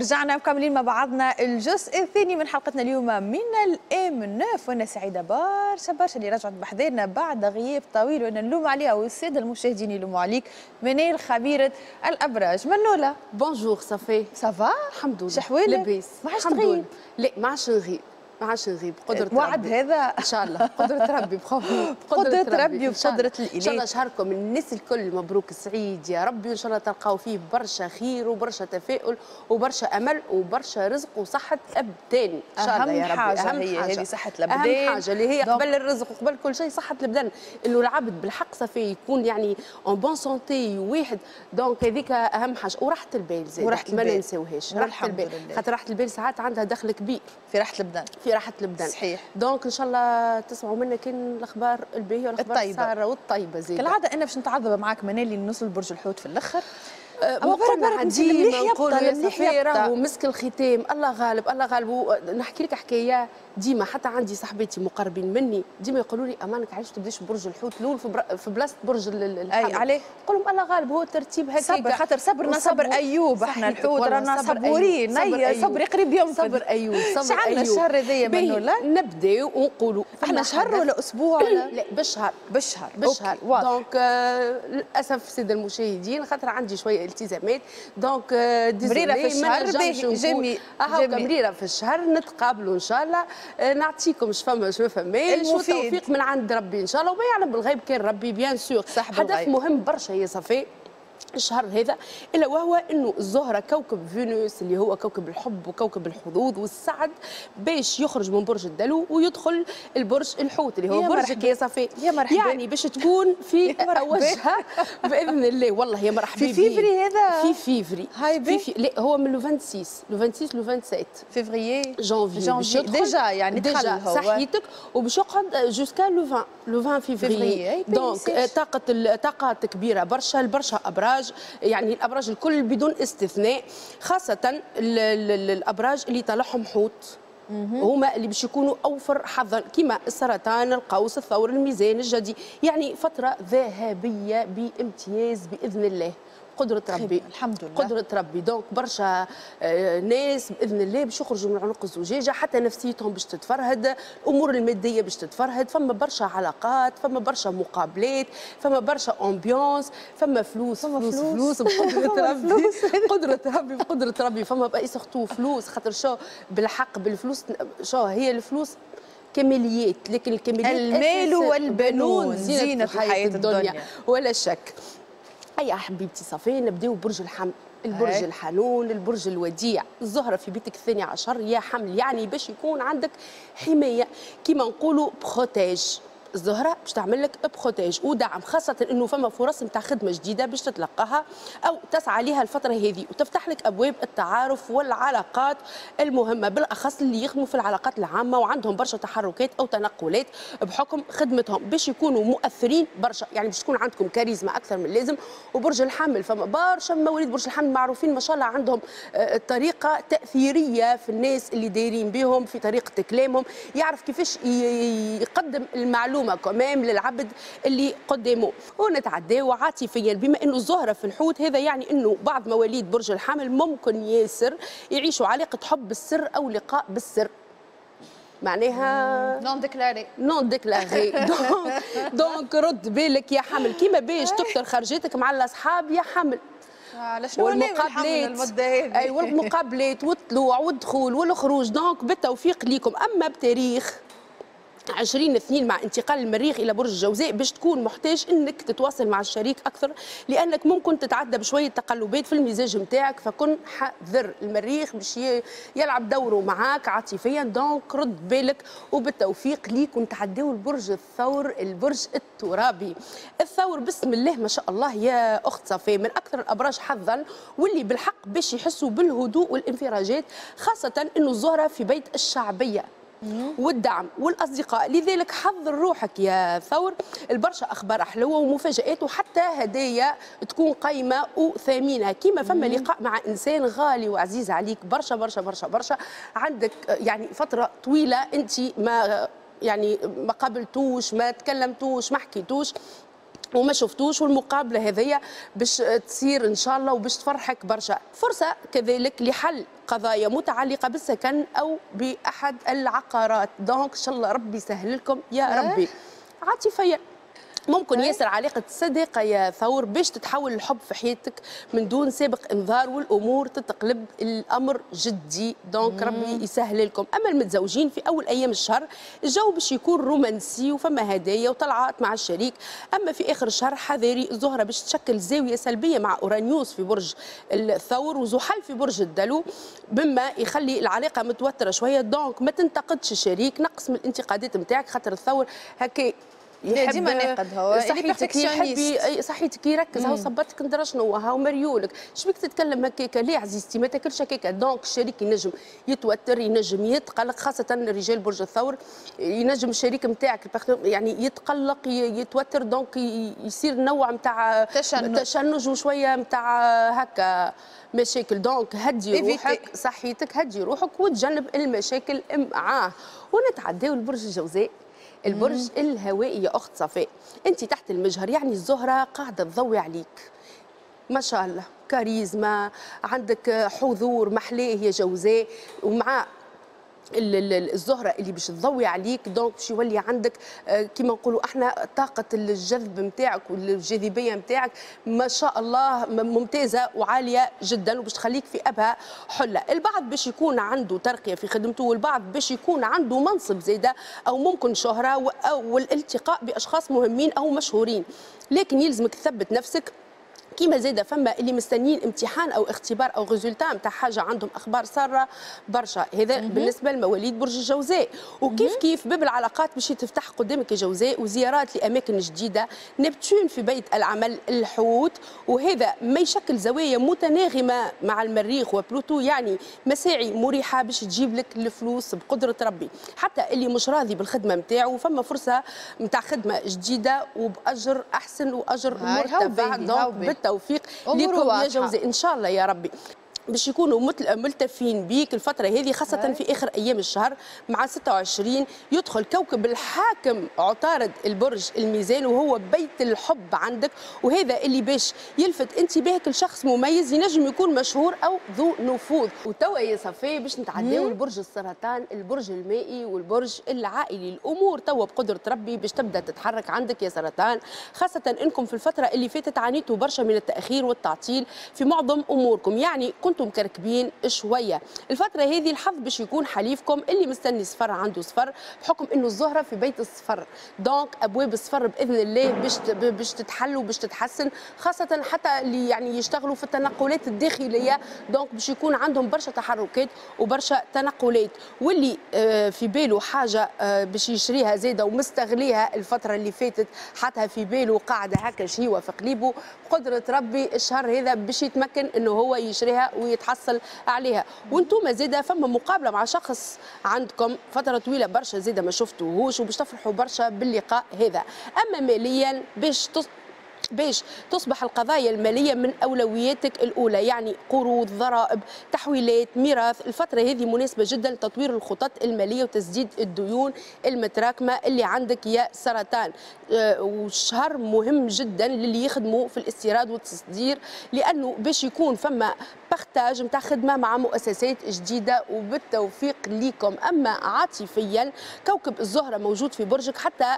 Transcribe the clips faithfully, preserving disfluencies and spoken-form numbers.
رجعنا مكملين مع بعضنا الجزء الثاني من حلقتنا اليوم من ال M neuf، وانا سعيدة برشا برشا اللي رجعت بحذانا بعد غياب طويل، وانا نلوم عليها والسادة المشاهدين يلوموا عليك. منال خبيرة الابراج. منوله. bonjour صافي. ça va؟ الحمد لله. شحوالك؟ لاباس. ما عادش تغيب. لا ما عادش نغيب، ما عادش نغيب قدرة وعد ربي. هذا ان شاء الله قدرة ربي، بقدرة ربي وبقدرة الإله. ان شاء الله شهركم الناس الكل مبروك سعيد يا ربي، وان شاء الله تلقاو فيه برشا خير وبرشا تفاؤل وبرشا امل وبرشا رزق وصحة ابدان ان شاء الله يا ربي. اهم حاجة هي هذه صحة الابدان، اهم حاجة اللي هي قبل الرزق وقبل كل شيء صحة البدن، انه العبد بالحق صافي يكون يعني en bonne santé واحد، donc هذيك اهم حاجة. وراحة البال زاد وراحة البال ما ننساوهاش، راحة البال خاطر راحة البال ساعات عندها دخل كبير في راحة البدن، في راحة البدن. صحيح. donc ان شاء الله تسمعوا منا كان الاخبار الباهيه والاخبار الساره والطيبه زيد. كالعادة انا باش نتعذب معاك منالي نوصل برج الحوت في الاخر. اما برا ديما نقولوا يا صفي راهو مسك الختام، الله غالب الله غالب. نحكي لك حكاية ديما، حتى عندي صاحباتي مقربين مني ديما يقولوا لي امانك علاش تبداش برج الحوت الاول في, في بلاصة برج الحمل؟ اي عليه؟ نقول لهم الله غالب هو الترتيب هكاك. صبر خاطر صبرنا صبر ايوب، احنا الحوت رانا صبورين، صبري قريب ينفذ. صبر ايوب، صبر ايوب. عندنا الشهر هذايا منولا؟ نبداو ونقولوا احنا شهر ولا اسبوع ولا؟ لا بالشهر، بالشهر بالشهر. donc للاسف سيد المشاهدين خاطر عندي شوية التزامات، donc مريرة في الشهر. جميل، هاكا مريرة في الشهر نتقابلوا ان شاء الله، نعطيكم اش فما اش ما فماش، والتوفيق من عند ربي ان شاء الله، وما يعلم بالغيب كان ربي bien sûr. حدث مهم برشا يا صفي الشهر هذا، الا وهو انه الزهرة كوكب فينوس اللي هو كوكب الحب وكوكب الحظوظ والسعد باش يخرج من برج الدلو ويدخل البرج الحوت اللي هو برجك يا صفي، يا مرحبا. يعني باش تكون في وجهها باذن الله. والله يا مرحبا. في فيفري هذا؟ في فيفري. هاي في في لا هو من le ستة وعشرين، le ستة وعشرين le سبعة وعشرين فيفري janvier janvier déjà، يعني déjà صحيتك، وباش يقعد jusqu'à le عشرين، le عشرين février. donc طاقة طاقات كبيرة برشا برشا ابراج، يعني الابراج الكل بدون استثناء، خاصة ال ال الابراج اللي طالعهم حوت هما اللي باش يكونوا اوفر حظا، كما السرطان، القوس، الثور، الميزان، الجدي، يعني فترة ذهبية بامتياز باذن الله، قدرة ربي. الحمد لله قدرة ربي. donc برشا ناس بإذن الله باش يخرجوا من عنق الزجاجة، حتى نفسيتهم باش تتفرهد، الأمور المادية باش تتفرهد، فما برشا علاقات، فما برشا مقابلات، فما برشا ambiance، فما فلوس، فما فلوس فلوس, فلوس بقدرة ربي، قدرة ربي بقدرة ربي، فما بقى surtout فلوس، خاطر شو بالحق بالفلوس، شو هي الفلوس كماليات، لكن الكماليات المال والبنون زينة الحياة الدنيا, الدنيا ولا شك. اي حبيبتي صافي نبداو برج الحمل، البرج هاي. الحنون، البرج الوديع. الزهرة في بيتك الثاني عشر يا حمل، يعني باش يكون عندك حماية كيما نقولوا protège. الزهرة باش تعمل لك protège ودعم، خاصة انه فما فرص نتاع خدمة جديدة باش تتلقاها او تسعى لها الفترة هذه، وتفتح لك ابواب التعارف والعلاقات المهمة، بالاخص اللي يخدموا في العلاقات العامة وعندهم برشا تحركات او تنقلات بحكم خدمتهم، باش يكونوا مؤثرين برشا، يعني باش تكون عندكم كاريزما اكثر من اللازم. وبرج الحمل فما برشا مواليد برج الحمل معروفين ما شاء الله عندهم طريقه تاثيريه في الناس اللي دايرين بهم، في طريقه كلامهم، يعرف كيفاش يقدم المعلومة كمام للعبد اللي قدامه. ونتعداو عاطفيا، بما انه الزهرة في الحوت، هذا يعني انه بعض مواليد برج الحمل ممكن ياسر يعيشوا علاقة حب بالسر او لقاء بالسر، معناها non déclaré، non déclaré. donc donc رد بالك يا حمل، كيما باش تكثر خرجتك مع الاصحاب يا حمل، على شنو والمقابلات المدة هذه؟ اي والمقابلات والطلوع والدخول والخروج، donc بالتوفيق ليكم. اما بتاريخ عشرين اثنين مع انتقال المريخ الى برج الجوزاء باش تكون محتاج انك تتواصل مع الشريك اكثر، لانك ممكن تتعدى بشوية تقلبات في المزاج نتاعك، فكن حذر. المريخ باش يلعب دوره معاك عاطفيا، donc رد بالك وبالتوفيق ليك. ونتعداو البرج الثور، البرج الترابي. الثور بسم الله ما شاء الله يا اخت صفي، من اكثر الابراج حظا، واللي بالحق باش يحسوا بالهدوء والانفراجات، خاصة انه الزهرة في بيت الشعبية والدعم والاصدقاء، لذلك حضر روحك يا ثور البرشا اخبار حلوة ومفاجات وحتى هدايا تكون قيمة وثمينه. كيما فما لقاء مع انسان غالي وعزيز عليك برشا برشا برشا برشا، عندك يعني فترة طويلة انت ما يعني ما قابلتوش، ما تكلمتوش، ما حكيتوش، وما شفتوش، والمقابلة هذيا باش تصير ان شاء الله وباش تفرحك برشا. فرصة كذلك لحل قضايا متعلقه بالسكن او باحد العقارات، donc ان شاء الله ربي يسهل لكم يا ربي. عاطفيا ممكن ياسر علاقة الصداقة يا ثور باش تتحول الحب في حياتك من دون سابق انذار، والامور تتقلب الامر جدي، donc ربي يسهل لكم. اما المتزوجين في اول ايام الشهر الجو باش يكون رومانسي وفما هدايا وطلعات مع الشريك، اما في اخر الشهر حذاري، الزهرة باش تشكل زاوية سلبية مع اورانيوس في برج الثور وزحل في برج الدلو، بما يخلي العلاقة متوترة شوية، donc ما تنتقدش الشريك، نقص من الانتقادات نتاعك خاطر الثور هكا يحب ديما ناقد، هو صحيتك يحب صحيتك يركز، هاو صباتك ندرا شنو، هاو مريولك، شبيك تتكلم هكاك، ليه عزيزتي ما تاكلش هكاك. donc الشريك ينجم يتوتر، ينجم يتقلق، خاصة رجال برج الثور ينجم الشريك نتاعك يعني يتقلق يتوتر، donc يصير نوع نتاع تشنج تشنج وشوية نتاع هكا مشاكل. donc هدي روحك، صحيتك هدي روحك وتجنب المشاكل معاه. ونتعداو لبرج الجوزاء، البرج الهوائي يا اخت صفاء، انت تحت المجهر، يعني الزهرة قاعدة تضوي عليك ما شاء الله، كاريزما عندك، حضور محلاه يا جوزاء، ومع الزهرة اللي باش تضوي عليك donc باش يولي عندك كيما نقولوا احنا طاقة الجذب نتاعك والجاذبيه نتاعك ما شاء الله ممتازة وعاليه جدا، وباش تخليك في ابهى حله. البعض باش يكون عنده ترقيه في خدمته، والبعض باش يكون عنده منصب زاده او ممكن شهره او والالتقاء باشخاص مهمين او مشهورين، لكن يلزمك تثبت نفسك. كيما زاد فما اللي مستنيين امتحان او اختبار او résultat نتاع حاجة، عندهم اخبار ساره برشا، هذا بالنسبة لمواليد برج الجوزاء. وكيف كيف باب العلاقات باش تفتح قدامك يا جوزاء، وزيارات لاماكن جديدة. نبتون في بيت العمل الحوت، وهذا ما يشكل زوايا متناغمه مع المريخ وبلوتو، يعني مساعي مريحه باش تجيب لك الفلوس بقدره ربي. حتى اللي مش راضي بالخدمة نتاعو فما فرصة نتاع خدمة جديدة وباجر احسن واجر مرتفع، donc بالتوفيق لكم يا جوزاء ان شاء الله يا ربي. باش يكونوا ملتفين بيك الفترة هذه، خاصة في آخر أيام الشهر مع ستة وعشرين يدخل كوكب الحاكم عطارد البرج الميزان، وهو بيت الحب عندك، وهذا اللي باش يلفت انتباهك لشخص مميز ينجم يكون مشهور أو ذو نفوذ. وتوا يا صفي باش نتعداو لبرج السرطان، البرج المائي والبرج العائلي. الأمور توا بقدرة ربي باش تبدأ تتحرك عندك يا سرطان، خاصة أنكم في الفترة اللي فاتت عانيتوا برشا من التأخير والتعطيل في معظم أموركم، يعني كنتم مكركبين شوية. الفترة هذه الحظ باش يكون حليفكم، اللي مستني صفر عنده صفر، بحكم انه الزهرة في بيت الصفر، donc ابواب الصفر باذن الله باش باش تتحل وباش تتحسن، خاصة حتى اللي يعني يشتغلوا في التنقلات الداخلية، donc باش يكون عندهم برشا تحركات وبرشا تنقلات. واللي في باله حاجة باش يشريها زاده ومستغليها الفترة اللي فاتت، حطها في باله قاعدة هكا شهيوه في قليبه، بقدره ربي الشهر هذا باش يتمكن انه هو يشريها ويتحصل عليها. وانتم زاده فما مقابله مع شخص عندكم فترة طويلة برشا زاده ما شفتوهوش، وباش تفرحوا برشا باللقاء هذا. اما ماليا باش تص... باش تصبح القضايا المالية من أولوياتك الأولى، يعني قروض، ضرائب، تحويلات، ميراث. الفترة هذه مناسبة جدا لتطوير الخطط المالية وتسديد الديون المتراكمة اللي عندك يا سرطان. وشهر مهم جدا للي يخدموا في الاستيراد والتصدير، لأنه باش يكون فما partage نتاع خدمة مع مؤسسات جديدة، وبالتوفيق ليكم. أما عاطفيا كوكب الزهرة موجود في برجك حتى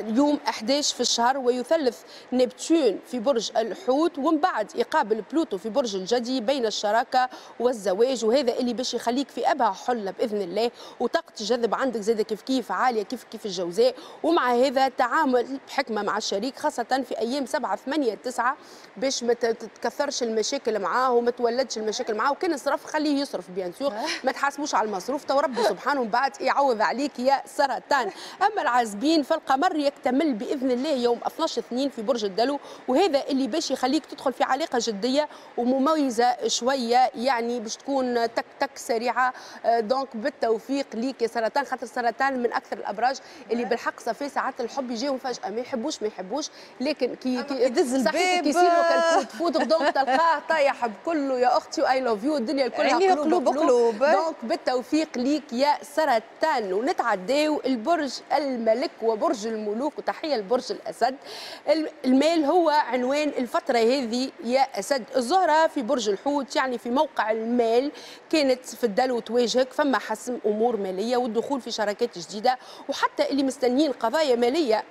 يوم أحد عشر في الشهر، ويثلث نبتون في برج الحوت، ومن بعد يقابل بلوتو في برج الجدي بين الشراكة والزواج، وهذا اللي باش يخليك في أبهى حلة بإذن الله، وطاقة الجذب عندك زادة كيف كيف عالية كيف كيف الجوزاء. ومع هذا تعامل بحكمة مع الشريك، خاصة في أيام سبعة ثمانية تسعة باش ما تتكثرش المشاكل معاه وما تولدش المشاكل معاه، وكان صرف خليه يصرف bien sûr، ما تحاسبوش على المصروف، تو ربي سبحانه من بعد يعوض عليك يا سرطان. أما العازبين فالقمر يكتمل بإذن الله يوم اثناش اثنين في برج الدلو، وهذا اللي باش يخليك تدخل في علاقة جدية ومميزة شوية، يعني باش تكون تك تك سريعة. donc بالتوفيق ليك يا سرطان، خاطر السرطان من اكثر الابراج اللي بالحق صافي ساعات الحب يجيهم فجاة، ما يحبوش ما يحبوش، لكن كي كي يدز الباب كي يصيروا كال coup de foudre donc تلقاه طايح بكله يا اختي و I love you، الدنيا كلها قلوب قلوب. donc بالتوفيق ليك يا سرطان. ونتعداو البرج الملك وبرج الملوك، وتحية لبرج الاسد. المال هو عنوان الفترة هذه يا اسد. الزهرة في برج الحوت يعني في موقع المال كانت في الدلو تواجهك، فما حسم امور ماليه والدخول في شراكات جديدة، وحتى اللي مستنيين قضايا ماليه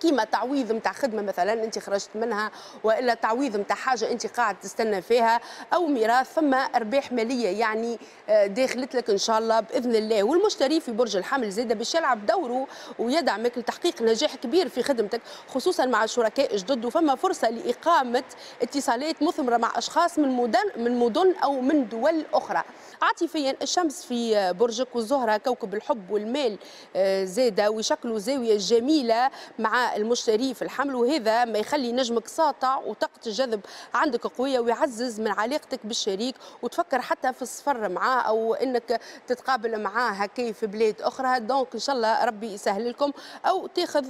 كيما تعويض نتاع خدمة مثلا انت خرجت منها، والا تعويض نتاع حاجة انت قاعد تستنى فيها، او ميراث، فما ارباح ماليه يعني داخلت لك ان شاء الله باذن الله. والمشتري في برج الحمل زاده باش يلعب دوره ويدعمك لتحقيق نجاح كبير في خدمتك، خصوصا مع شركاء جدد، وفما فرصة لاقامة اتصالات مثمرة مع اشخاص من مدن من مدن او من دول اخرى. عاطفيا الشمس في برجك والزهرة كوكب الحب والمال زاده، ويشكلوا زاوية جميلة مع المشتري في الحمل، وهذا ما يخلي نجمك ساطع وطاقة الجذب عندك قوية، ويعزز من علاقتك بالشريك، وتفكر حتى في السفر معاه أو أنك تتقابل معاه هكا في بلاد أخرى. donc إن شاء الله ربي يسهل لكم أو تاخذ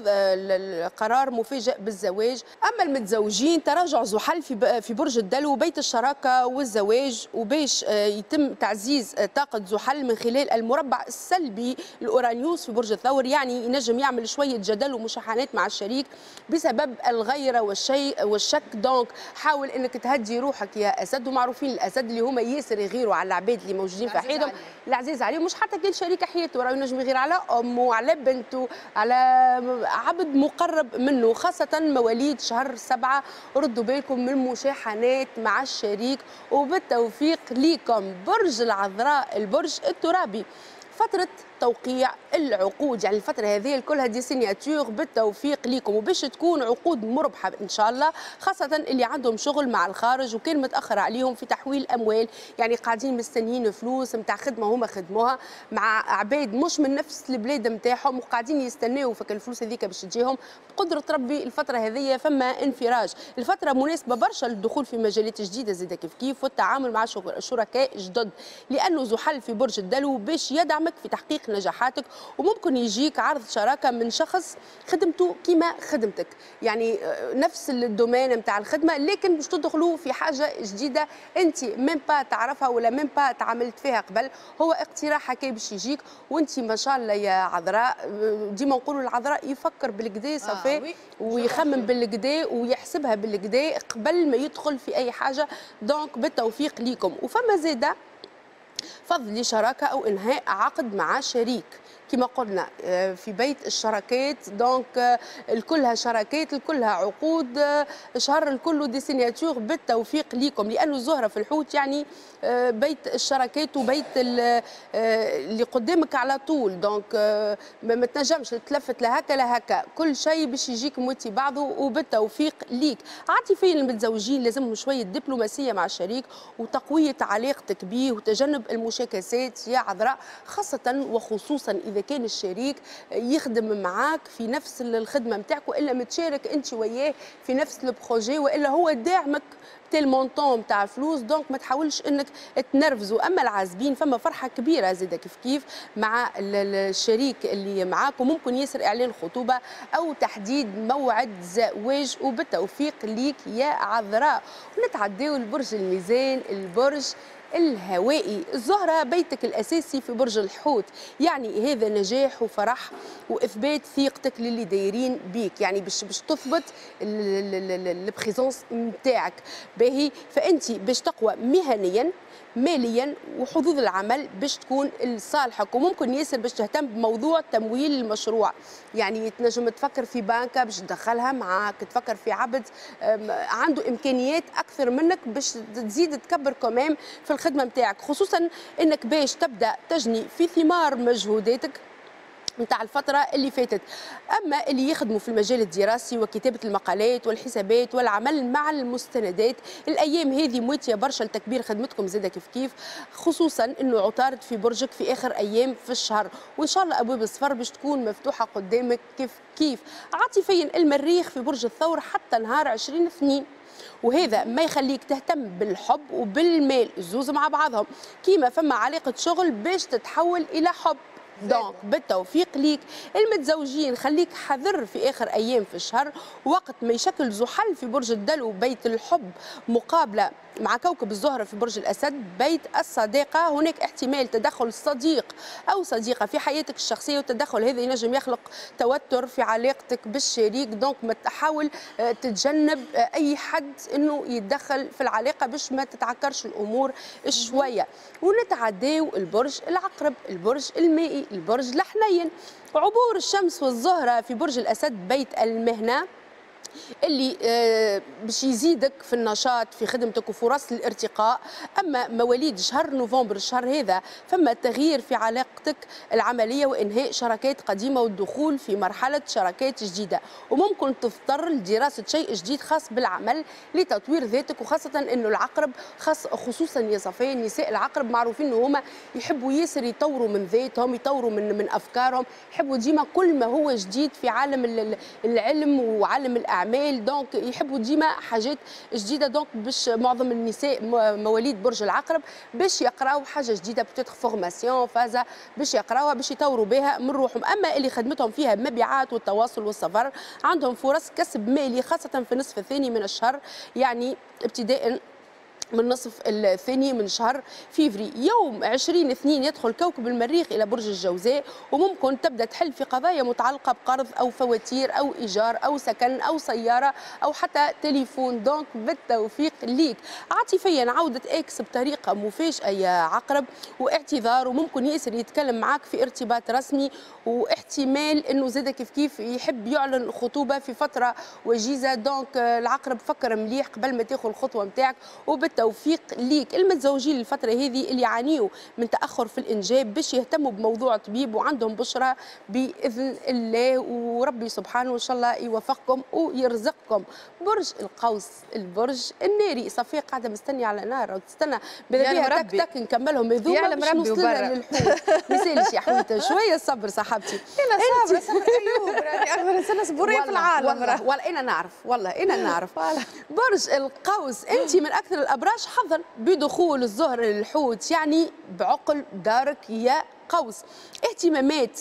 قرار مفاجئ بالزواج. أما المتزوجين تراجع زحل في في برج الدلو بيت الشراكة والزواج، وباش يتم تعزيز طاقة زحل من خلال المربع السلبي الأورانيوس في برج الثور، يعني ينجم يعمل شوية جدل ومشاحنات مع الشريك بسبب الغيرة والشيء والشك. donc حاول انك تهدي روحك يا اسد، ومعروفين الاسد اللي هما ياسر يغيروا على العباد اللي موجودين في حياتهم، العزيز عليهم، مش حتى كان شريك حياته، راه ينجم يغير على امه، على بنته، على عبد مقرب منه، خاصة مواليد شهر سبعة. ردوا بالكم من المشاحنات مع الشريك، وبالتوفيق ليكم. برج العذراء البرج الترابي، فترة توقيع العقود، يعني الفترة هذه كلها des signatures، بالتوفيق ليكم، وباش تكون عقود مربحة إن شاء الله، خاصة اللي عندهم شغل مع الخارج وكان متأخر عليهم في تحويل أموال، يعني قاعدين مستنيين فلوس نتاع خدمة هما خدموها مع عباد مش من نفس البلاد نتاعهم وقاعدين يستناو فك الفلوس هذيك باش تجيهم. بقدرة ربي الفترة هذه فما انفراج، الفترة مناسبة برشا للدخول في مجالات جديدة زادة كيف كيف، والتعامل مع شركاء جدد، لأنه زحل في برج الدلو باش يدعمك في تحقيق نجاحاتك، وممكن يجيك عرض شراكة من شخص خدمته كما خدمتك، يعني نفس ال domaine نتاع الخدمة، لكن باش تدخلوا في حاجة جديدة انت même pas تعرفها ولا même pas تعاملت فيها قبل. هو اقتراح هكا باش يجيك، وانت ما شاء الله يا عذراء، ديما نقولوا العذراء يفكر بالكدا صافي آه ويخمم بالكدا ويحسبها بالكدا قبل ما يدخل في اي حاجة. donc بالتوفيق ليكم. وفما زاده فضل لشراكه او انهاء عقد مع شريك، كما قلنا في بيت الشراكات، donc الكلها شراكات، الكلها عقود، شهر الكل des signatures. بالتوفيق ليكم، لانه الزهرة في الحوت يعني بيت الشراكات وبيت اللي قدامك على طول، donc ما تنجمش تلفت لا هكا لا هكا، كل شيء باش يجيك موتي بعضه، وبالتوفيق ليك. عاطفيا المتزوجين لازمهم شوية دبلوماسية مع الشريك وتقويه علاقتك به وتجنب المشاكسات يا عذراء، خاصة وخصوصا اذا كان الشريك يخدم معاك في نفس الخدمة نتاعك، والا متشارك انت وياه في نفس ال projet، والا هو داعمك tel montant نتاع فلوس، donc ما تحاولش انك تنرفزوا. اما العازبين فما فرحه كبيرة زاده كيف كيف مع الشريك اللي معاك، وممكن ياسر اعلان خطوبه او تحديد موعد زواج، وبالتوفيق ليك يا عذراء. ونتعداو لبرج الميزان البرج الهوائي. الزهرة بيتك الأساسي في برج الحوت، يعني هذا نجاح وفرح وإثبات ثقتك للي دايرين بيك، يعني باش باش تثبت ال présence نتاعك باهي، فأنت باش تقوى مهنيا ماليا وحظوظ العمل باش تكون لصالحك، وممكن ياسر باش تهتم بموضوع تمويل المشروع، يعني تنجم تفكر في بنكه باش تدخلها معاك، تفكر في عبد عنده امكانيات اكثر منك باش تزيد تكبر كمان في الخدمة نتاعك، خصوصا انك باش تبدا تجني في ثمار مجهوداتك نتاع الفترة اللي فاتت. أما اللي يخدموا في المجال الدراسي وكتابة المقالات والحسابات والعمل مع المستندات، الأيام هذه مواتية برشا لتكبير خدمتكم زادة كيف كيف، خصوصا أنه عطارد في برجك في آخر أيام في الشهر، وإن شاء الله أبواب السفر باش تكون مفتوحة قدامك كيف كيف. عاطفيا المريخ في برج الثور حتى نهار عشرين اثنين، وهذا ما يخليك تهتم بالحب وبالمال الزوز مع بعضهم، كيما فما علاقة شغل باش تتحول إلى حب. donc بالتوفيق ليك. المتزوجين خليك حذر في اخر ايام في الشهر، وقت ما يشكل زحل في برج الدلو بيت الحب مقابله مع كوكب الزهرة في برج الاسد بيت الصداقة، هناك احتمال تدخل صديق او صديقه في حياتك الشخصية، والتدخل هذا ينجم يخلق توتر في علاقتك بالشريك. donc ما تحاول تتجنب اي حد انه يتدخل في العلاقة باش ما تتعكرش الامور شوية. ونتعداو البرج العقرب، البرج المائي، البرج الحنين. عبور الشمس والزهرة في برج الاسد بيت المهنة اللي باش يزيدك في النشاط في خدمتك وفرص الارتقاء. اما مواليد شهر نوفمبر الشهر هذا فما تغيير في علاقتك العملية وانهاء شراكات قديمة والدخول في مرحلة شراكات جديدة، وممكن تضطر لدراسة شيء جديد خاص بالعمل لتطوير ذاتك، وخاصة انه العقرب خاص خصوصا يا صفيه النساء العقرب معروفين انه هما يحبوا ياسر يطوروا من ذاتهم، يطوروا من من افكارهم، يحبوا ديما كل ما هو جديد في عالم العلم وعالم الاعمال. donc يحبوا ديما حاجات جديدة. donc باش معظم النساء مواليد برج العقرب باش يقراو حاجة جديدة، peut-être formation فازا باش يقراوها باش يطوروا بها من روحهم. اما اللي خدمتهم فيها المبيعات والتواصل والسفر عندهم فرص كسب مالي خاصة في النصف الثاني من الشهر، يعني ابتداء من النصف الثاني من شهر فيفري. يوم عشرين اثنين يدخل كوكب المريخ إلى برج الجوزاء، وممكن تبدأ تحل في قضايا متعلقة بقرض أو فواتير أو إيجار أو سكن أو سيارة أو حتى تليفون. donc بالتوفيق ليك. عاطفيا عودة ex بطريقة مفاجئة يا عقرب واعتذار، وممكن ياسر يتكلم معك في ارتباط رسمي، واحتمال أنه زاد كيف كيف يحب يعلن خطوبة في فترة وجيزة. donc العقرب فكر مليح قبل ما تاخذ الخطوة نتاعك، وبالتوفيق توفيق ليك. المتزوجين الفترة هذه اللي يعانيوا من تأخر في الإنجاب باش يهتموا بموضوع طبيب وعندهم بشرة بإذن الله، وربي سبحانه إن شاء الله يوفقكم ويرزقكم. برج القوس البرج الناري، صفية قاعدة مستنية على نار وتستنى بها تك تك نكملهم هذوما باش نوصلنا للحوت. ما يسالش يا حويته، شوية صبر صاحبتي. أنا صابرة صبر أيوب، راني أكثر إنسانة صبورية في العالم. والله والله أنا نعرف، والله أنا نعرف. برج القوس أنت من أكثر الأبراج حظا بدخول الزهر للحوت، يعني بعقل دارك يا قوس. اهتمامات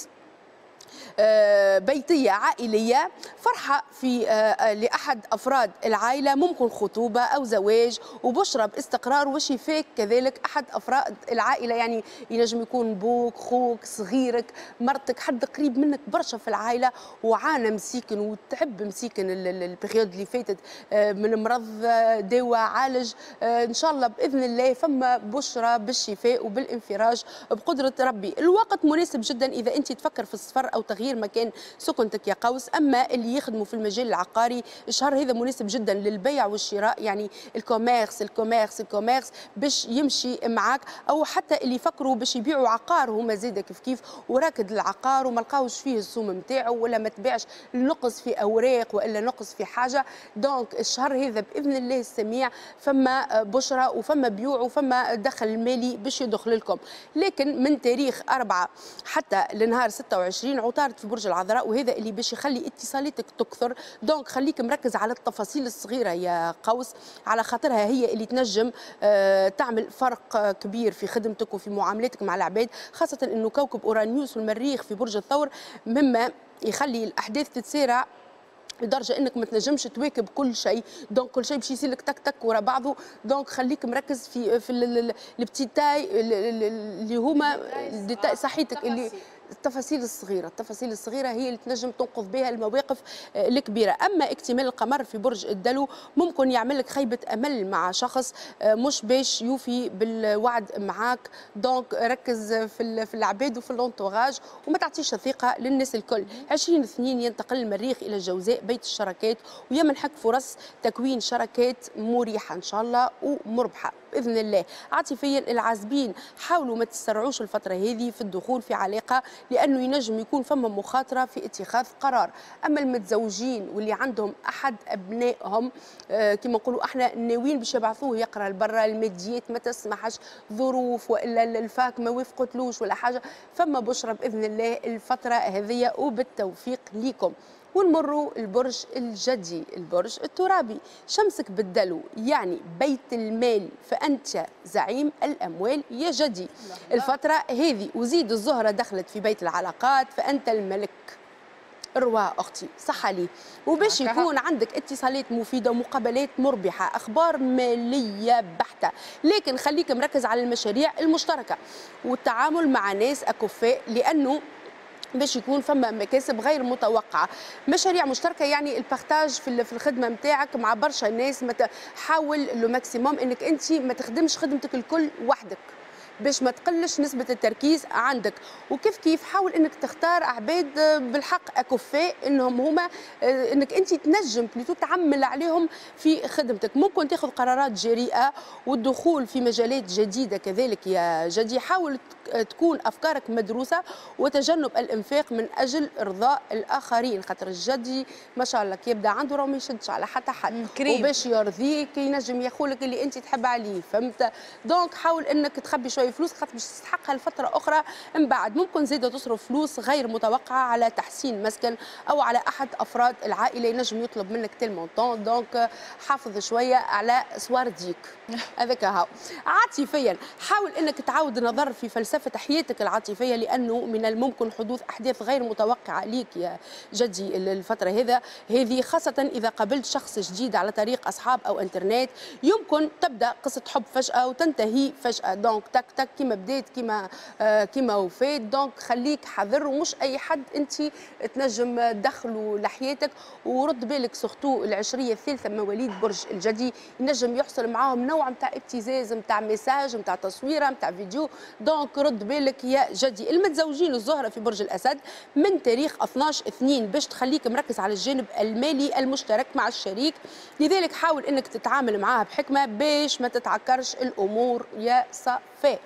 بيتية عائلية، فرحة في لأحد أفراد العائلة، ممكن خطوبة أو زواج، وبشرة باستقرار وشفاك كذلك أحد أفراد العائلة، يعني ينجم يكون بوك، خوك، صغيرك، مرتك، حد قريب منك برشا في العائلة وعانى مسيكن وتعب مسيكن ال période اللي فاتت من مرض، دواء، عالج. إن شاء الله بإذن الله فما بشرة بالشفاء وبالانفراج بقدرة ربي. الوقت مناسب جدا إذا أنت تفكر في السفر أو تغيير مكان سكنتك يا قوس. اما اللي يخدموا في المجال العقاري الشهر هذا مناسب جدا للبيع والشراء، يعني ال commerce ال commerce ال commerce باش يمشي معاك، او حتى اللي يفكروا باش يبيعوا عقار هما زاده كيف كيف وراكد العقار وما لقاوش فيه السوم نتاعو ولا ما تبيعش، نقص في اوراق والا نقص في حاجة. donc الشهر هذا باذن الله السميع فما بشرى وفما بيوع وفما دخل مالي باش يدخل لكم. لكن من تاريخ أربعة حتى لنهار ستة وعشرين عطارد في برج العذراء، وهذا اللي باش يخلي اتصالاتك تكثر. donc خليك مركز على التفاصيل الصغيرة يا قوس، على خاطرها هي اللي تنجم تعمل فرق كبير في خدمتك وفي معاملاتك مع العباد، خاصة انه كوكب اورانيوس والمريخ في برج الثور مما يخلي الاحداث تتسارع لدرجة انك ما تنجمش تواكب كل شيء. donc كل شيء باش يصير لك تك تك ورا بعضه. donc خليك مركز في في ال petits détails اللي هما détails صحيتك، اللي التفاصيل الصغيرة، التفاصيل الصغيرة هي اللي تنجم تنقذ بها المواقف الكبيرة. اما اكتمال القمر في برج الدلو ممكن يعمل لك خيبه امل مع شخص مش باش يوفي بالوعد معاك. donc ركز في في العباد وفي l'entourage وما تعطيش الثقة للناس الكل. عشرين اثنين ينتقل المريخ الى الجوزاء بيت الشراكات، ويمنحك فرص تكوين شراكات مريحه ان شاء الله ومربحه باذن الله. عاطفيا العازبين حاولوا ما تسرعوش الفترة هذه في الدخول في علاقة، لانه ينجم يكون فما مخاطره في اتخاذ قرار. اما المتزوجين واللي عندهم احد ابنائهم آه كما نقولوا احنا ناويين باش يبعثوه يقرا لبرا، الماديات ما تسمحش، ظروف والا ال fac ما وافقتلوش ولا حاجة، فما بشرى باذن الله الفترة هذه وبالتوفيق ليكم. ونمروا البرج الجدي، البرج الترابي، شمسك بالدلو يعني بيت المال، فأنت زعيم الأموال يا جدي الفترة هذه. وزيد الزهرة دخلت في بيت العلاقات فأنت الملك الرواء أختي، صح لي. وباش يكون عندك اتصالات مفيدة ومقابلات مربحة، أخبار مالية بحتة، لكن خليك مركز على المشاريع المشتركة والتعامل مع ناس أكفاء، لأنه باش يكون فما مكاسب غير متوقعه. مشاريع مشتركة يعني ال partage في الخدمة نتاعك مع برشا ناس، حاول le maximum انك انت ما تخدمش خدمتك الكل وحدك باش ما تقلش نسبة التركيز عندك. وكيف كيف حاول انك تختار عباد بالحق اكفاء، انهم هما انك انت تنجم plutôt تعمل عليهم في خدمتك. ممكن تاخذ قرارات جريئة والدخول في مجالات جديدة كذلك يا جدي. حاول تكون افكارك مدروسة وتجنب الانفاق من اجل ارضاء الاخرين، خاطر الجدي ما شاء الله كي يبدا عنده راه ما يشدش على حتى حد، وباش يرضيك ينجم ياخذلك اللي انت تحب عليه، فهمت؟ donc حاول انك تخبي شوية فلوس خاطر باش تستحقها لفترة اخرى من بعد. ممكن زيادة تصرف فلوس غير متوقعه على تحسين مسكن او على احد افراد العائلة، ينجم يطلب منك tel montant، donc حافظ شوية على سوارديك هذاك هاو. عاطفيا حاول انك تعاود النظر في فلسفة حياتك العاطفية، لانه من الممكن حدوث احداث غير متوقعه ليك يا جدي الفترة هذا هذه، خاصة اذا قابلت شخص جديد على طريق اصحاب او انترنت. يمكن تبدا قصة حب فجاة وتنتهي فجاة، donc تك تك كيما بديت كيما آه كيما وفات. donc خليك حذر، ومش اي حد انت تنجم تدخله لحياتك. ورد بالك surtout العشريه الثالثة مواليد برج الجدي ينجم يحصل معاهم نوع نتاع ابتزاز، نتاع message، نتاع تصويره، نتاع فيديو، donc رد بالك يا جدي. المتزوجين الزهرة في برج الاسد من تاريخ اثناش اثنين باش تخليك مركز على الجانب المالي المشترك مع الشريك، لذلك حاول انك تتعامل معاه بحكمه باش ما تتعكرش الامور يا صفاء.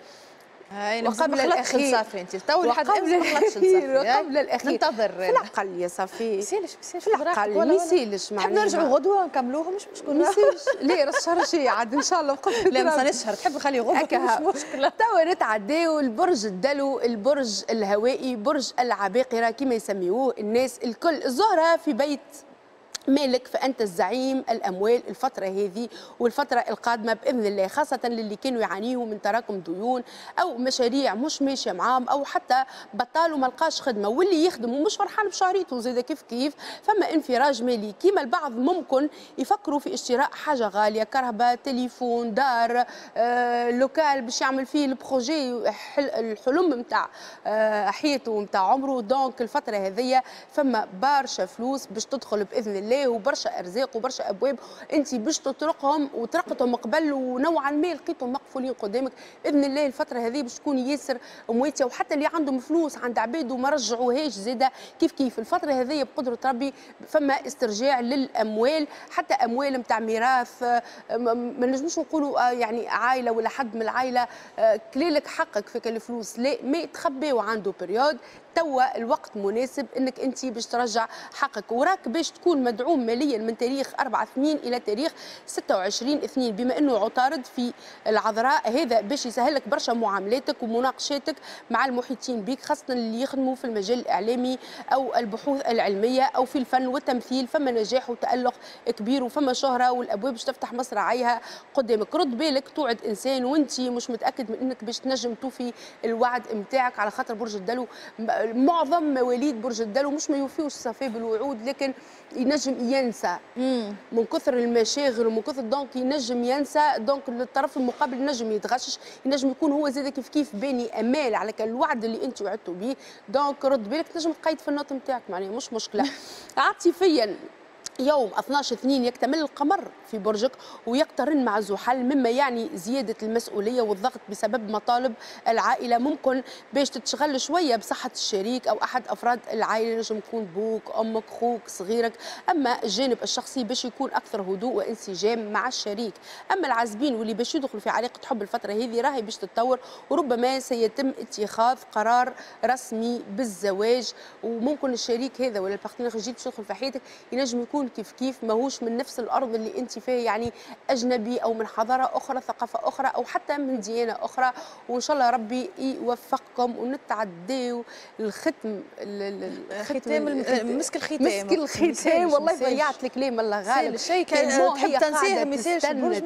وقبل الاخير صافي انت تو لحد الاخير، وقبل الاخير ننتظر في العقل يا صافي، يسالش في العقل ما يسالش، تحب نرجعوا غدوه نكملوه مش مشكل، ما يسالش ليه راس الشهر شي عاد ان شاء الله. لا ما الشهر تحب خلي غدوه مش مشكلة. توا نتعداو البرج الدلو، البرج الهوائي، برج العباقرة كما يسميوه الناس الكل. الزهرة في بيت مالك فأنت الزعيم الأموال الفترة هذه والفترة القادمة بإذن الله، خاصة للي كانوا يعانيوا من تراكم ديون أو مشاريع مش ماشية معاهم أو حتى بطال وما لقاش خدمة، واللي يخدم ومش فرحان بشهريته زاد كيف كيف. فما انفراج مالي كيما البعض ممكن يفكروا في اشتراء حاجة غالية، كرهبة، تليفون، دار، آه، local باش يعمل فيه ال projet الحلم نتاع آه، حياته نتاع عمره. donc الفترة هذه فما برشا فلوس باش تدخل بإذن الله، وبرشا ارزاق وبرشا ابواب انت باش تطرقهم وطرقتهم قبل ونوعا ما لقيتهم مقفولين قدامك. باذن الله الفترة هذه باش تكون ياسر مواتيه، وحتى اللي عندهم فلوس عند عباد وما رجعوهاش زاده كيف كيف الفترة هذه بقدره ربي فما استرجاع للاموال، حتى اموال نتاع ميراث، ما نجموش نقولوا يعني عائلة ولا حد من العائلة كليلك حقك في الفلوس، لا ما تخبيو عنده période. توا الوقت مناسب انك انت باش ترجع حقك، وراك باش تكون مدعوم ماليا من تاريخ أربعة اثنين الى تاريخ ستة وعشرين اثنين، بما انه عطارد في العذراء هذا باش يسهل لك برشا معاملاتك ومناقشاتك مع المحيطين بك، خاصة اللي يخدموا في المجال الاعلامي او البحوث العلمية او في الفن والتمثيل. فما نجاح وتالق كبير وفما شهره والابواب باش تفتح مصراعيها قدامك. رد بالك توعد انسان وانت مش متاكد من انك باش تنجم توفي الوعد نتاعك، على خاطر برج الدلو معظم مواليد برج الدلو مش ما يوفيوش صافي بالوعود، لكن ينجم ينسى من كثر المشاغل ومن كثر، donc ينجم ينسى، donc الطرف المقابل ينجم يتغشش، ينجم يكون هو زاد كيف كيف باني امال على الوعد اللي انت وعدته به. donc رد بالك تنجم تقيد في ال note نتاعك، معناها مش مشكلة. عاطفيا يوم اثناش اثنين يكتمل القمر في في برجك ويقترن مع زحل، مما يعني زيادة المسؤولية والضغط بسبب مطالب العائلة. ممكن باش تتشغل شوية بصحة الشريك او احد افراد العائلة، نجم يكون بوك، امك، خوك، صغيرك. اما الجانب الشخصي باش يكون اكثر هدوء وانسجام مع الشريك. اما العازبين واللي باش يدخلوا في علاقة حب الفترة هذه راهي باش تتطور، وربما سيتم اتخاذ قرار رسمي بالزواج، وممكن الشريك هذا ولا ال partenaire الجديد باش يدخل في حياتك ينجم يكون كيف كيف ماهوش من نفس الارض اللي انت فيها، يعني اجنبي او من حضارة اخرى، ثقافة اخرى، او حتى من ديانة اخرى. وان شاء الله ربي يوفقكم ونتعداو الختم، الختام، مسك الختام، مسك الختام. والله ضيعت الكلام، الله غالب. شيء كان تحب تنسيه ما يسالش، تستنى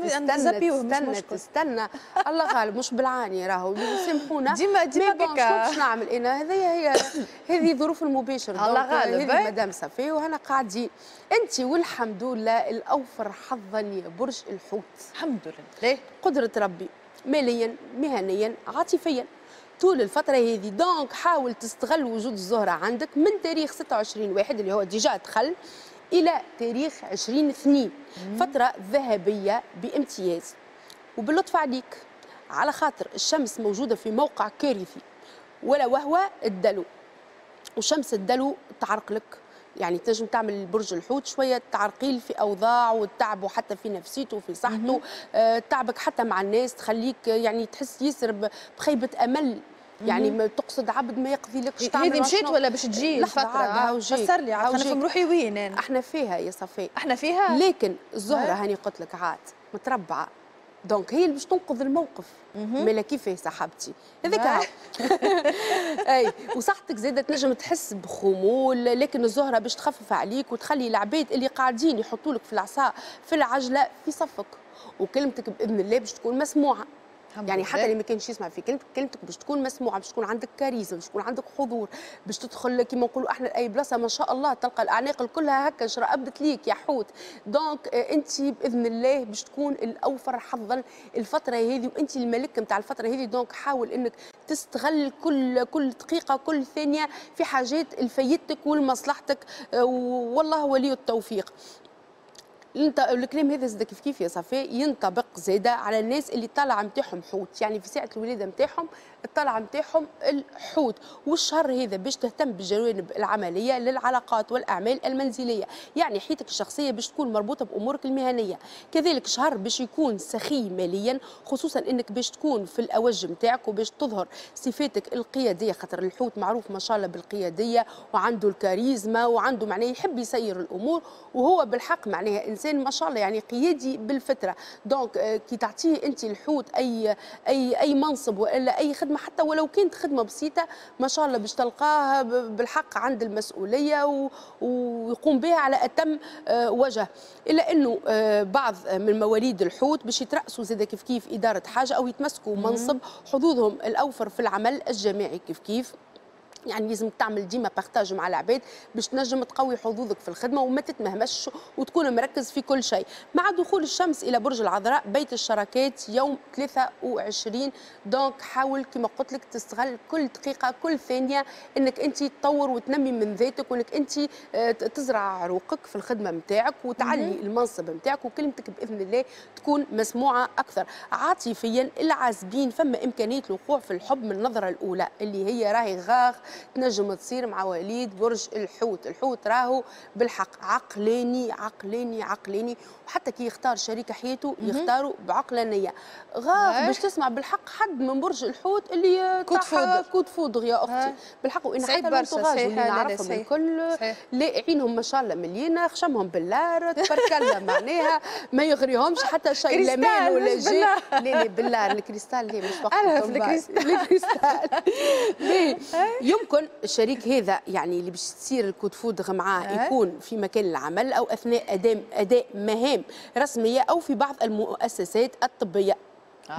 تستنى تستنى، الله غالب، مش بالعاني راهو، سامحونا ديما ديما هكا. باش نعمل انا هذه هي هذه ظروف المباشر، الله غالب. هذه مدام صفي وهنا قاعدين انت، والحمد لله الاوفر حظا يا برج الحوت، الحمد لله قدره ربي ماليا مهنيا عاطفيا طول الفترة هذه. donc حاول تستغل وجود الزهرة عندك من تاريخ ستة وعشرين واحد اللي هو déjà دخل إلى تاريخ عشرين اثنين، فترة ذهبية بامتياز. وباللطف عليك على خاطر الشمس موجودة في موقع كارثي ولا وهو الدلو، وشمس الدلو تعرقلك، يعني تنجم تعمل برج الحوت شوية تعرقيل في اوضاع والتعب، وحتى في نفسيته وفي صحته، آه تعبك حتى مع الناس تخليك يعني تحس ياسر بخيبه امل، يعني ما تقصد عبد ما يقضي لكش. تعمل هذه مشيت ولا باش تجي الفترة؟ فسر لي عاد نفهم روحي وين انا. احنا فيها يا صفاء، احنا فيها، لكن الزهرة هاني قلت لك عاد متربعه، donc هي اللي باش تنقذ الموقف. مالا كيفاه صاحبتي هذاك. اي وصحتك زاده تنجم تحس بخمول، لكن الزهرة باش تخفف عليك وتخلي العباد اللي قاعدين يحطوا لك في العصا في العجلة في صفك، وكلمتك باذن الله باش تكون مسموعة. يعني حتى اللي ما كانش يسمع في كلمتك، كلمتك باش تكون مسموعة، باش تكون عندك كاريزما، باش تكون عندك حضور، باش تدخل كيما نقولوا احنا لاي بلاصة ما شاء الله تلقى الاعناق كلها هكا شرقبت ليك يا حوت. donc انت باذن الله باش تكون الاوفر حظا الفترة هذه، وانت الملك نتاع الفترة هذه. donc حاول انك تستغل كل كل دقيقة كل ثانية في حاجات لفايدتك ولمصلحتك، والله ولي التوفيق. الكلام هذا زاد كيف كيف يا صفاء ينطبق زاده على الناس اللي طالعه نتاعهم حوت، يعني في ساعة الولادة نتاعهم الطلعة نتاعهم الحوت. والشهر هذا باش تهتم بالجوانب العملية للعلاقات والاعمال المنزلية، يعني حياتك الشخصية باش تكون مربوطة بامورك المهنية. كذلك شهر باش يكون سخي ماليا، خصوصا انك باش تكون في الاوج نتاعك وباش تظهر صفاتك القيادية، خاطر الحوت معروف ما شاء الله بالقياديه وعنده الكاريزما وعنده معناه يحب يسير الامور، وهو بالحق معناها انسان ما شاء الله يعني قيادي بالفترة. donc كي تعطيه انت الحوت اي اي اي منصب والا اي خدمة، حتى ولو كانت خدمة بسيطة ما شاء الله باش تلقاها بالحق عند المسؤولية ويقوم بها على اتم وجه. الا انه بعض من مواليد الحوت باش يترأسوا زاد كيف كيف ادارة حاجة او يتمسكوا منصب، حظوظهم الاوفر في العمل الجماعي كيف كيف. يعني لازم تعمل ديما partage مع العباد باش تنجم تقوي حظوظك في الخدمة وما تتمهمش وتكون مركز في كل شيء. مع دخول الشمس الى برج العذراء بيت الشراكات يوم ثلاثة وعشرين، donc حاول كما قلت لك تستغل كل دقيقة كل ثانية انك انت تطور وتنمي من ذاتك، وانك انت تزرع عروقك في الخدمة نتاعك وتعلي المنصب نتاعك، وكلمتك باذن الله تكون مسموعة اكثر. عاطفيا العازبين فما امكانية الوقوع في الحب من النظرة الاولى اللي هي راهي غاغ تنجم تصير مع وليد برج الحوت. الحوت راهو بالحق عقلاني عقلاني عقلاني، وحتى كي يختار شريك حياته يختاروا بعقلانيه. غاغ باش تسمع بالحق حد من برج الحوت اللي coup de foudre coup de foudre يا اختي بالحق. وان حتى l'entourage اللي نعرفهم الكل لاعينهم ما شاء الله مليانة، خشمهم باللار تبارك الله معناها ما يغريهمش حتى شيء، لا مال ولا جي. لا لا بالله الكريستال لا مش وقت الكريستال. يمكن الشريك هذا يعني اللي باش تصير ال coup de foudre معاه يكون في مكان العمل او اثناء اداء اداء مهام رسمية او في بعض المؤسسات الطبية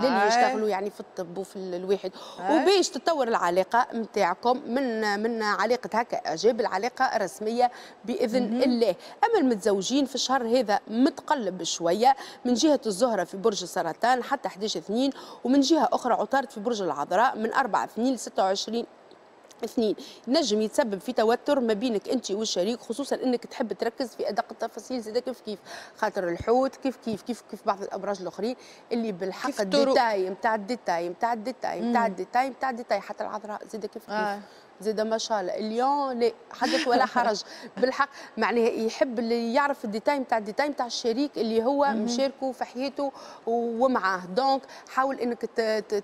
للي يشتغلوا يعني في الطب وفي الواحد. وباش تطور العلاقة نتاعكم من من علاقة هكا اعجاب العلاقة الرسمية باذن الله. اما المتزوجين في الشهر هذا متقلب شوية، من جهة الزهرة في برج السرطان حتى أحد عشر اثنين، ومن جهة اخرى عطارد في برج العذراء من أربعة اثنين ل ستة وعشرين اثنين، نجم يتسبب في توتر ما بينك انت والشريك، خصوصا انك تحب تركز في ادق التفاصيل زاد كيف كيف، خاطر الحوت كيف كيف كيف كيف بعض الابراج الاخرين اللي بالحق ال détail نتاع ال détail نتاع ال détail نتاع ال détail نتاع ال détail، حتى العذراء زاد كيف كيف آه. زاد ما شاء الله ال lion لا حدث ولا حرج بالحق، معناها يحب اللي يعرف ال détail نتاع ال détail نتاع الشريك اللي هو مشاركة في حياته ومعاه. donc حاول انك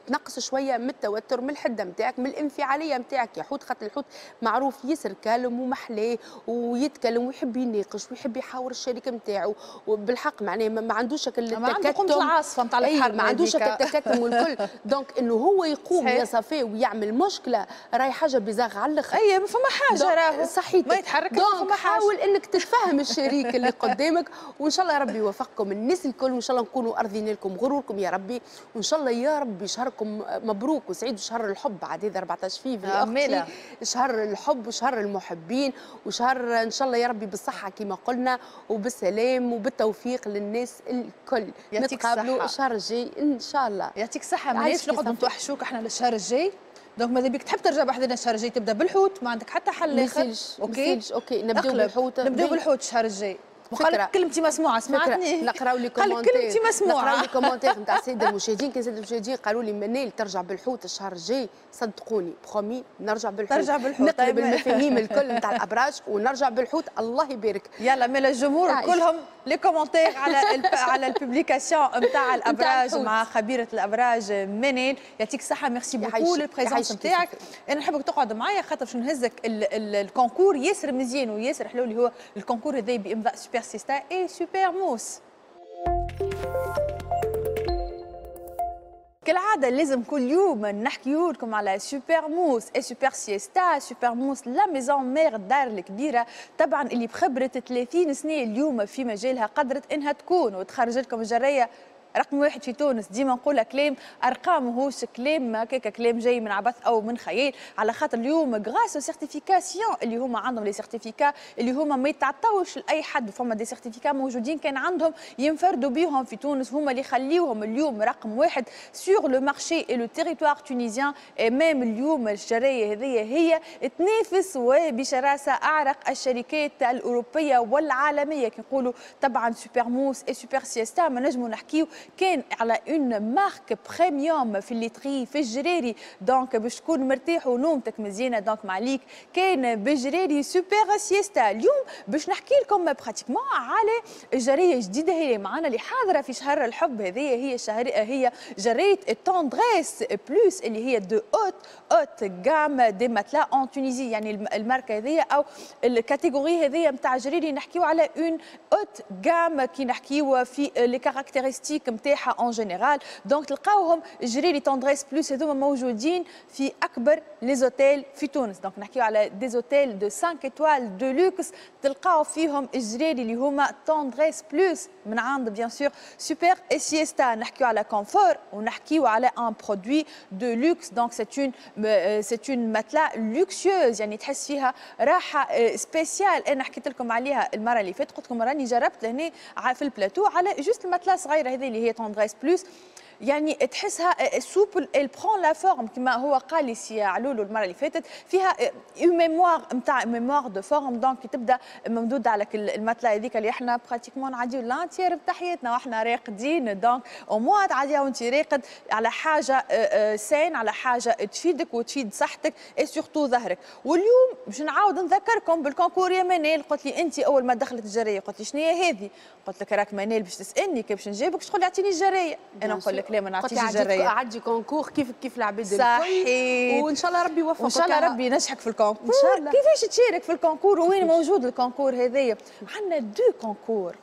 تنقص شوية من التوتر، من الحدة نتاعك، من الانفعاليه نتاعك يا حوت، خاطر الحوت معروف ياسر calme ومحلاه ويتكلم ويحب يناقش ويحب يحاور الشريك نتاعو، وبالحق معناها ما عندوش التكتم، ما عنده قمة العاصفة نتاع الحرب، ما عندوش التكتم والكل. donc انه هو يقوم يا صافي ويعمل مشكلة راهي حاجة bizarre على الاخر. اي ما فما حاجة راهو صحيح ما يتحرك، donc حاول انك تتفهم الشريك اللي قدامك، وان شاء الله ربي يوفقكم الناس الكل، وان شاء الله نكونوا ارضين لكم غروركم يا ربي، وان شاء الله يا ربي شهركم مبروك وسعيد، وشهر الحب عاد هذا أربعطاش فيفري اختي، شهر الحب وشهر المحبين، وشهر ان شاء الله يا ربي بالصحة كما قلنا وبالسلام وبالتوفيق للناس الكل. نتقابلوا الشهر الجاي ان شاء الله. يعطيك الصحة، ماناش نقعدوا نتوحشوك احنا للشهر الجاي. donc ماذا بيك تحب ترجع بحذنا الشهر الجاي تبدا بالحوت، ما عندك حتى حل اخر. OK OK نبداو بالحوت، نبداو بالحوت الشهر الجاي. وقال لك كلمتي مسموعة، سمعتني؟ نقراو les commentaires، كلمتي مسموعة، نقراو les commentaires نتاع السادة المشاهدين. كان السادة المشاهدين قالوا لي منال ترجع بالحوت الشهر الجاي، صدقوني promis نرجع بالحوت، ترجع بالحوت، نقلب المفاهيم الكل نتاع الابراج ونرجع بالحوت. الله يبارك. يلا مال الجمهور كلهم les commentaires على الب... على ال publication نتاع الابراج مع خبيرة الابراج منال. يعطيك الصحة، merci beaucoup لل présence نتاعك. انا نحبك تقعد معايا خاطر باش نهزك ال concours ياسر مزيان وياسر حلو، اللي هو ال concours هذا بامضاء Super Siesta et Super Mousse. كالعادة لازم كل يوم نحكيو لكم على Super Mousse et Super Siesta. Super Mousse la maison mère، الدار الكبيرة طبعا اللي بخبرة ثلاثين سنة اليوم في مجالها قدرت انها تكون وتخرج لكم الجرية رقم واحد في تونس. ديما نقولها كلام ارقام ماهوش كلام هكاك كلام جاي من عبث او من خيال، على خاطر اليوم grâce aux certifications اللي هما عندهم les certificats اللي هما ما يتعطاوش لاي حد، فما des certificats موجودين كان عندهم ينفردوا بيهم في تونس، هما اللي يخليوهم اليوم رقم واحد sur le marché et le territoire tunisien. même اليوم الشرايه هذه هي تنافس وبشراسه اعرق الشركات الاوروبية والعالمية. كي نقولوا طبعا Super Mousse et Super Siesta ما نجموا نحكيو كان على une marque premium في الليتري في الجريري، donc باش تكون مرتاح ونومتك مزيانه، donc ما عليك كان بجريري Super Siesta. اليوم باش نحكي لكم pratiquement على جريه جديدة هي معنا اللي حاضره في شهر الحب، هذه هي شهر هي جريه ال Tendresse Plus اللي هي de haute haute gamme des matelas en Tunisie. يعني الماركة هذه او ال catégorie هذه نتاع جريري نحكيو على une haute gamme كي نحكيو في les caractéristiques نتاعها en général. donc تلقاوهم جريري Tendresse Plus هذوما موجودين في اكبر les hôtels في تونس. donc نحكيو على des hôtels de خمسة étoiles de luxe تلقاو فيهم الجريري اللي هما Tendresse Plus من عند bien sûr Super Siesta. نحكيو على confort ونحكيو على un produit de luxe، donc c'est une c'est une matelas luxueuse، يعني تحس فيها راحة spéciale. انا حكيت لكم عليها المرة اللي فاتت، قلت لكم راني جربت لهنا في البلاتو على juste ال matelas صغيرة هذه اللي هي Tendresse Plus، يعني تحسها souple، elle prend la forme كما هو قال لي سي علولو المرة اللي فاتت، فيها une mémoire نتاع mémoire de forme. donc تبدا ممدوده على ال matelas هذيك اللي احنا pratiquement نعديو l'entière نتاع حياتنا واحنا راقدين، donc au moins تعديها وانت راقد على حاجة saine، على حاجة تفيدك وتفيد صحتك et surtout ظهرك. واليوم باش نعاود نذكركم بال concours يا منال، قلت لي انت اول ما دخلت الجريه قلت لي شنو هي هذه؟ قلت لك راك منال باش تسالني كيف باش نجاوبك تقول لي اعطيني الجريه، انا نقول لك لا ما نعطيش الجريه، عدي concours كيف كيف العباد الكل. صحيح، وان شاء الله ربي يوفقك، وان شاء الله ربي ينجحك في ال concours. ان شاء الله. كيفاش تشارك في ال concours وين موجود ال concours هذايا؟ عندنا deux concours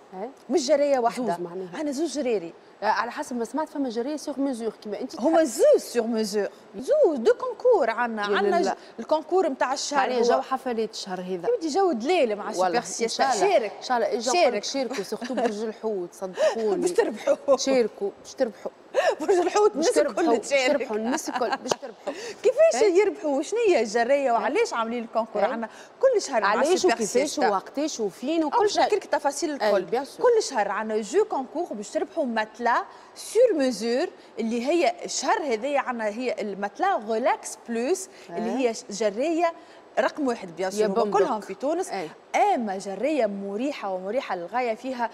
مش جريه واحدة، عندنا زوج جريري على حسب ما سمعت. فما جريه sur mesure كيما انت، هما زوز sur mesure، زوز deux concours عندنا. عندنا ال concours نتاع الشهر يعني جو حفلات الشهر هذا، يودي جو دليل مع Super Siesta. شارك ان شاء الله، شارك شاركوا surtout برج الحوت صدقوني باش تربحوا، شاركوا باش تربحوا. برج الحوت الناس الكل تشارك، تربحوا الناس الكل باش تربحوا. كيفاش يربحوا؟ شنو هي الجرايه وعلاش عاملين ال concours عندنا كل شهر؟ علاش وكيفاش ووقتاش وفين وكل شيء، نحكي لك التفاصيل الكل. كل شهر عندنا jeu concours باش تربحوا matelas sur mesure، اللي هي الشهر هذايا عندنا هي ال matelas Relax Plus اللي هي جرايه رقم واحد bien sûr كلهم في تونس. أي. اما جريه مريحه ومريحه للغايه، فيها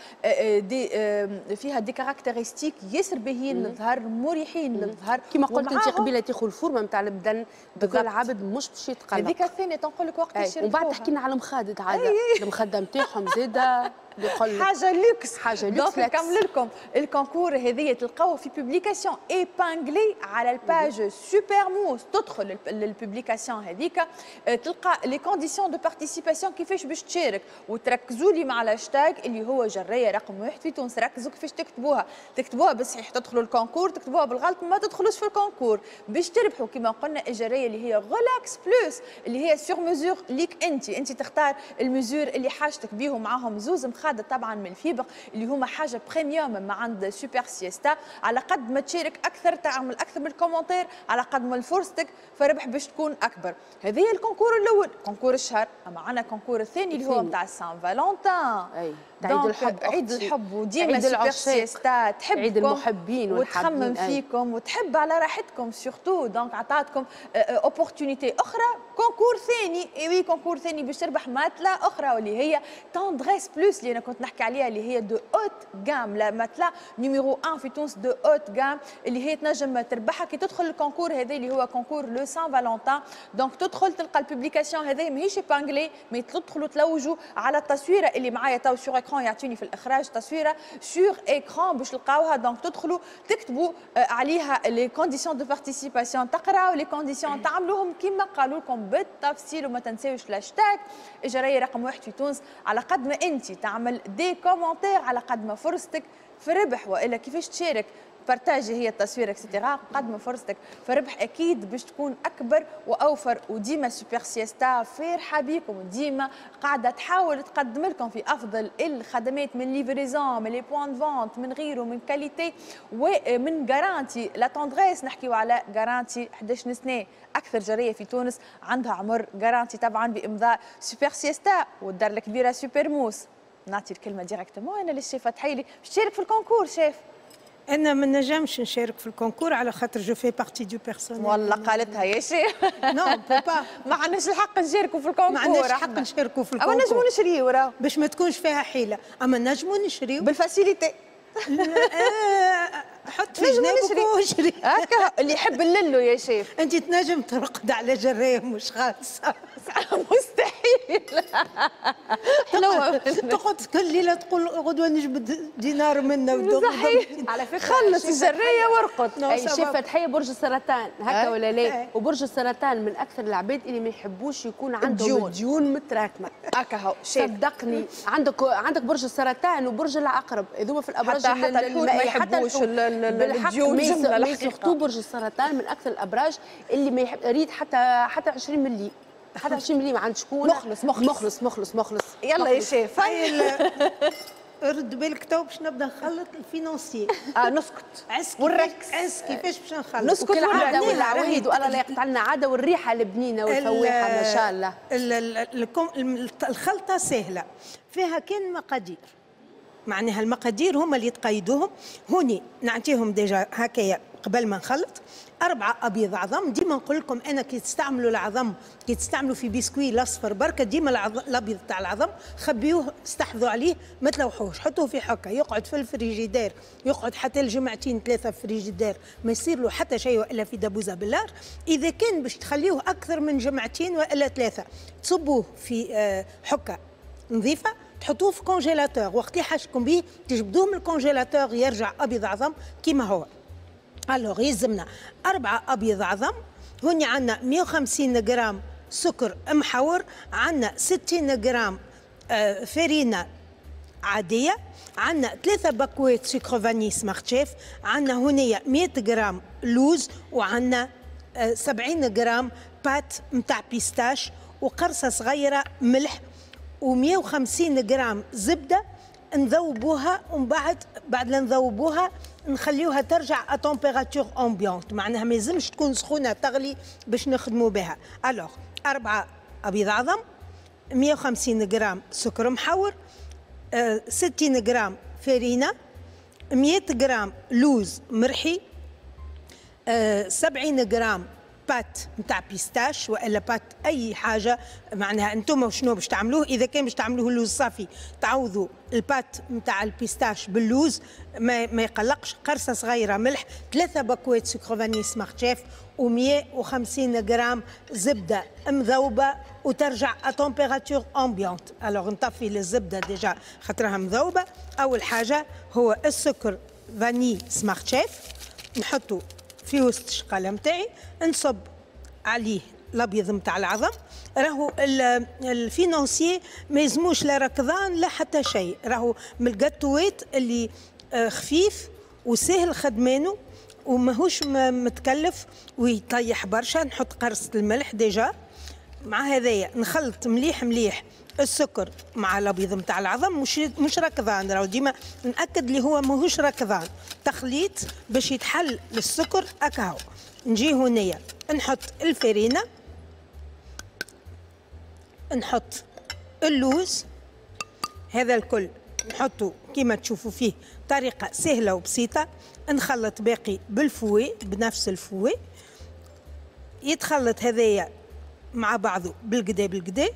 des فيها des caractéristiques ياسر باهيين للظهر، مريحين للظهر. كما قلت انت قبيلة تاخذ ال forme نتاع البدن، دوك العبد مش باش يتقلق. هذيك الثانية تنقول لك وقت. ومن بعد تحكي لنا على المخادد عادة، المخدة نتاعهم زاده حاجة لوكس، حاجة luxe. donc نكمل لكم ال concours هذه تلقاوه في publication épinglée على ال page Super Mousse. تدخل لل publication هذيك تلقى les conditions de participation، كيفاش باش تشارك، وتركزوا لي مع الهاشتاج اللي هو جرايه رقم واحد في تونس. ركزوا كيفاش تكتبوها، تكتبوها بالصحيح تدخلوا ال concours، تكتبوها بالغلط ما تدخلوش في ال concours. باش تربحوا كما قلنا الجرايه اللي هي Relax Plus اللي هي sur mesure ليك انت، انت تختار ال mesure اللي حاجتك بيهم. معاهم زوز مخادد طبعا من ال fibre اللي هما حاجة premium ما عند Super Siesta. على قد ما تشارك اكثر، تعمل اكثر من ال commentaire، على قد ما فرصتك فربح باش تكون اكبر. هذه ال concours الاول، concours الشهر. اما عندنا concours الثاني اللي هو نتاع Saint-Valentin، اي عيد الحب، عيد الحب، وديما Super Siesta تحبكم، عيد المحبين وتخمم فيكم وتحب على راحتكم surtout. donc عطاتكم opportunité اخرى، concours ثاني، et oui concours ثاني باش تربح matelas اخرى واللي هي Tendresse Plus اللي انا كنت نحكي عليها، اللي هي de haute gamme، la matelas numéro واحد في تونس de haute gamme، اللي هي تنجم تربحها كي تدخل ال concours هذا اللي هو concours le Saint-Valentin. donc تدخل تلقى ال publication هذه ماهيش épinglée، mais تدخلوا تلوجوا على التصويره اللي معايا تو sur écran، يعطيني في الاخراج تصويره sur écran باش تلقاوها. donc تدخلوا تكتبوا عليها les conditions de participation، تقراو les conditions، تعملوهم كيما قالوا لكم بالتفصيل، وما تنساوش الهاشتاج الجرايه رقم واحد في تونس. على قد ما انت تعمل des commentaires على قد ما فرصتك في ربح، والا كيفاش تشارك partager هي التصوير et cetera، قد ما فرصتك فربح اكيد باش تكون اكبر واوفر. وديما Super Siesta فارحه بيكم، وديما قاعدة تحاول تقدم لكم في افضل الخدمات من livraison، من les points de vente، من غيره، من qualité ومن garantie. la Tendresse نحكيو على garantie إحداش سنه، اكثر جريه في تونس عندها عمر garantie طبعا بامضاء Super Siesta والدار الكبيرة Super Mousse. نعطي الكلمة directement انا للشيف فتحيلي باش تشارك في ال concours. شيف، انا ما نجمش نشارك في ال concours على خاطر je fais partie du personnel. والله قالتها يا شيخ. non pas، ما عندناش الحق نشاركوا في ال concours. ما عندناش الحق نشاركوا في ال concours. اما نجموا نشريو راه باش ما تكونش فيها حيله، اما نجموا نشريو بال facilité. حط في جنابك واشري. هكا اللي يحب الللو يا شيف. انت تنجم ترقد على جرايه مش خالصة؟ مستحيل. تقعد كل ليلة تقول غدوه نجبد دينار منا. صحيح. على فكرة خلص الجريه وارقد. اي شيف فتحيه برج السرطان هكا ولا لا؟ وبرج السرطان من اكثر العباد اللي ما يحبوش يكون عندهم ديون متراكمه. هكا هو شيف، صدقني عندك عندك برج السرطان وبرج العقرب هذوما في الابراج. حتى حتى الحوت ما يحبوش الديون جمله. surtout برج السرطان من اكثر الابراج اللي ما يحب ريد حتى حتى عشرين ملي، حتى عشرين ملي ما عند شكون. مخلص مخلص مخلص مخلص مخلص. يلا يا شيف. رد بالك تو باش نبدا نخلط ال financier. اه نسكت ونركز. عس كيفاش باش نخلط؟ نسكت. العادة والعوايد والله لا يقطع لنا عادة، والريحه البنينه والفواحه ما شاء الله. الخلطة سهلة، فيها كان مقادير، معناها المقادير هما اللي تقيدوهم هوني. نعطيهم déjà هكايا قبل ما نخلط. أربعة أبيض عظم، ديما نقول لكم أنا كي تستعملوا العظم، كي تستعملوا في بسكوي الأصفر بركة، ديما الأبيض تاع العظم خبيوه، استحفظوا عليه، ما تلوحوش، حطوه في حكة يقعد في الفريجيدير، يقعد حتى الجمعتين ثلاثة في الفريجيدير ما يصير له حتى شيء، وإلا في دبوزة بالار. إذا كان باش تخليوه أكثر من جمعتين وإلا ثلاثة، تصبوه في حكة نظيفة، تحطوه في congélateur، وقت اللي حاجكم به تجبدوه من ال congélateur يرجع ابيض عظم كيما هو. alors يلزمنا أربعة أبيض عظم، هوني عندنا مية وخمسين غرام سكر محور، عندنا ستين غرام فرينة عادية، عندنا ثلاثة باكوات sucre vanillé Smart Chef، عندنا هنايا مية غرام لوز، وعندنا سبعين غرام pâte متاع pistache، وقرصة صغيرة ملح، ومية وخمسين غرام زبدة نذوبوها ومن بعد بعد لا نذوبوها نخليوها ترجع à température ambiante، معناها ما يلزمش تكون سخونة تغلي باش نخدموا بها. alors أربعة ابيض عظم، مية وخمسين غرام سكر محور، ستين غرام فرينه، مية غرام لوز مرحي، سبعين غرام pâte نتاع pistache والا pâte اي حاجة، معناها انتم شنو باش تعملوه. اذا كان باش تعملوه اللوز صافي تعوضوا ال pâte نتاع ال pistache باللوز، ما, ما يقلقش. قرصة صغيرة ملح، ثلاثة باكوات سكر vanillé Smart Chef، ومية وخمسين غرام زبدة مذوبه وترجع à température ambiante. alors نطفي الزبدة déjà خاطرها مذوبه. اول حاجة هو السكر vanillé Smart Chef، نحطه في وسط الشقاله نتاعي، نصب عليه الابيض نتاع العظم. راهو ال financier ما يلزموش لا ركضان لا حتى شيء، راهو من الجاتوات اللي آه، خفيف وسهل خدمانه وماهوش متكلف ويطيح برشا. نحط قرصة الملح déjà مع هذايا، نخلط مليح مليح السكر مع الابيض نتاع العظم، مش مش ركضان، راهو ديما ناكد اللي هو ماهوش ركضان، تخليط باش يتحل السكر اكاهو. نجي هنايا نحط الفرينه، نحط اللوز، هذا الكل نحطه كيما تشوفوا فيه طريقة سهلة وبسيطة. نخلط باقي بال fouet، بنفس ال fouet يتخلط هذايا مع بعضه بالقدا بالقدا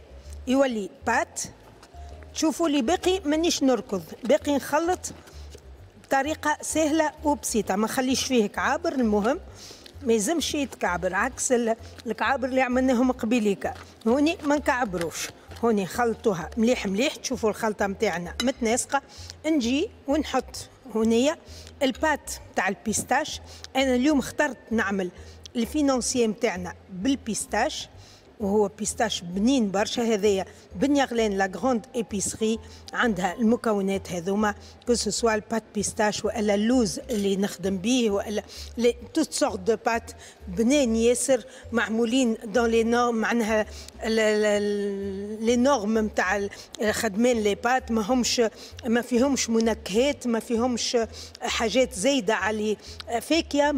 يولي pâte. تشوفوا لي باقي مانيش نركض، باقي نخلط بطريقة سهلة وبسيطة، ما نخليش فيه كعابر. المهم ما يلزمش يتكعبر، عكس الكعابر اللي عملناهم قبيليكا، هوني ما نكعبروش. هوني خلطوها مليح مليح، تشوفوا الخلطة نتاعنا متناسقه. نجي ونحط هنيا ال pâte تاع ال pistache. انا اليوم اخترت نعمل ال financier نتاعنا بال pistache، وهو pistache بنين برشا. هذايا بن يغلان la grande épicerie عندها المكونات هذوما، que ce soit ال pâte pistache والا اللوز اللي نخدم به والا toutes sortes de pâtes بنين ياسر معمولين dans les normes، معناها les normes نتاع خدمان les pâtes، ما همش ما فيهمش منكهات، ما فيهمش حاجات زايدة على فاكهة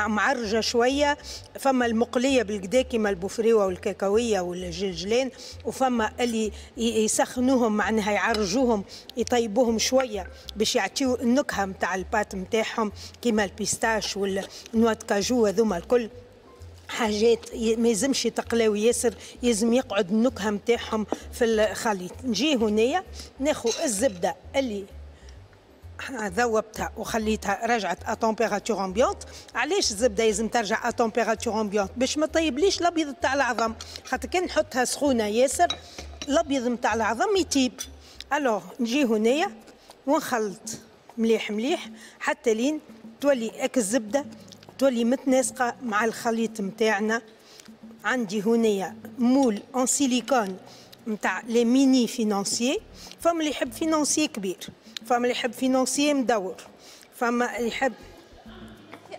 معرجه شويه. فما المقليه بالقدا كيما البوفريوه والكاكاويه والجلجلان، وفما اللي يسخنوهم، معناها يعرجوهم، يطيبوهم شوية باش يعطيو النكهة نتاع ال pâte نتاعهم كيما ال pistache وال noix de cajou. هذوما الكل حاجات ما يلزمش يتقلاو ياسر، يلزم يقعد النكهة نتاعهم في الخليط. نجي هنايا ناخذ الزبدة اللي ذوبتها وخليتها رجعت à température ambiante. علاش الزبدة لازم ترجع à température ambiante؟ باش ما طيبليش الابيض تاع العظم، خاطر كان نحطها سخونة ياسر الابيض نتاع العظم يطيب. alors نجي هنايا ونخلط مليح مليح حتى لين تولي اك الزبدة تولي متناسقه مع الخليط نتاعنا. عندي هنايا moule en silicone نتاع les mini financiers. فما اللي يحب financier كبير، فما اللي يحب financier مدور، فما اللي يحب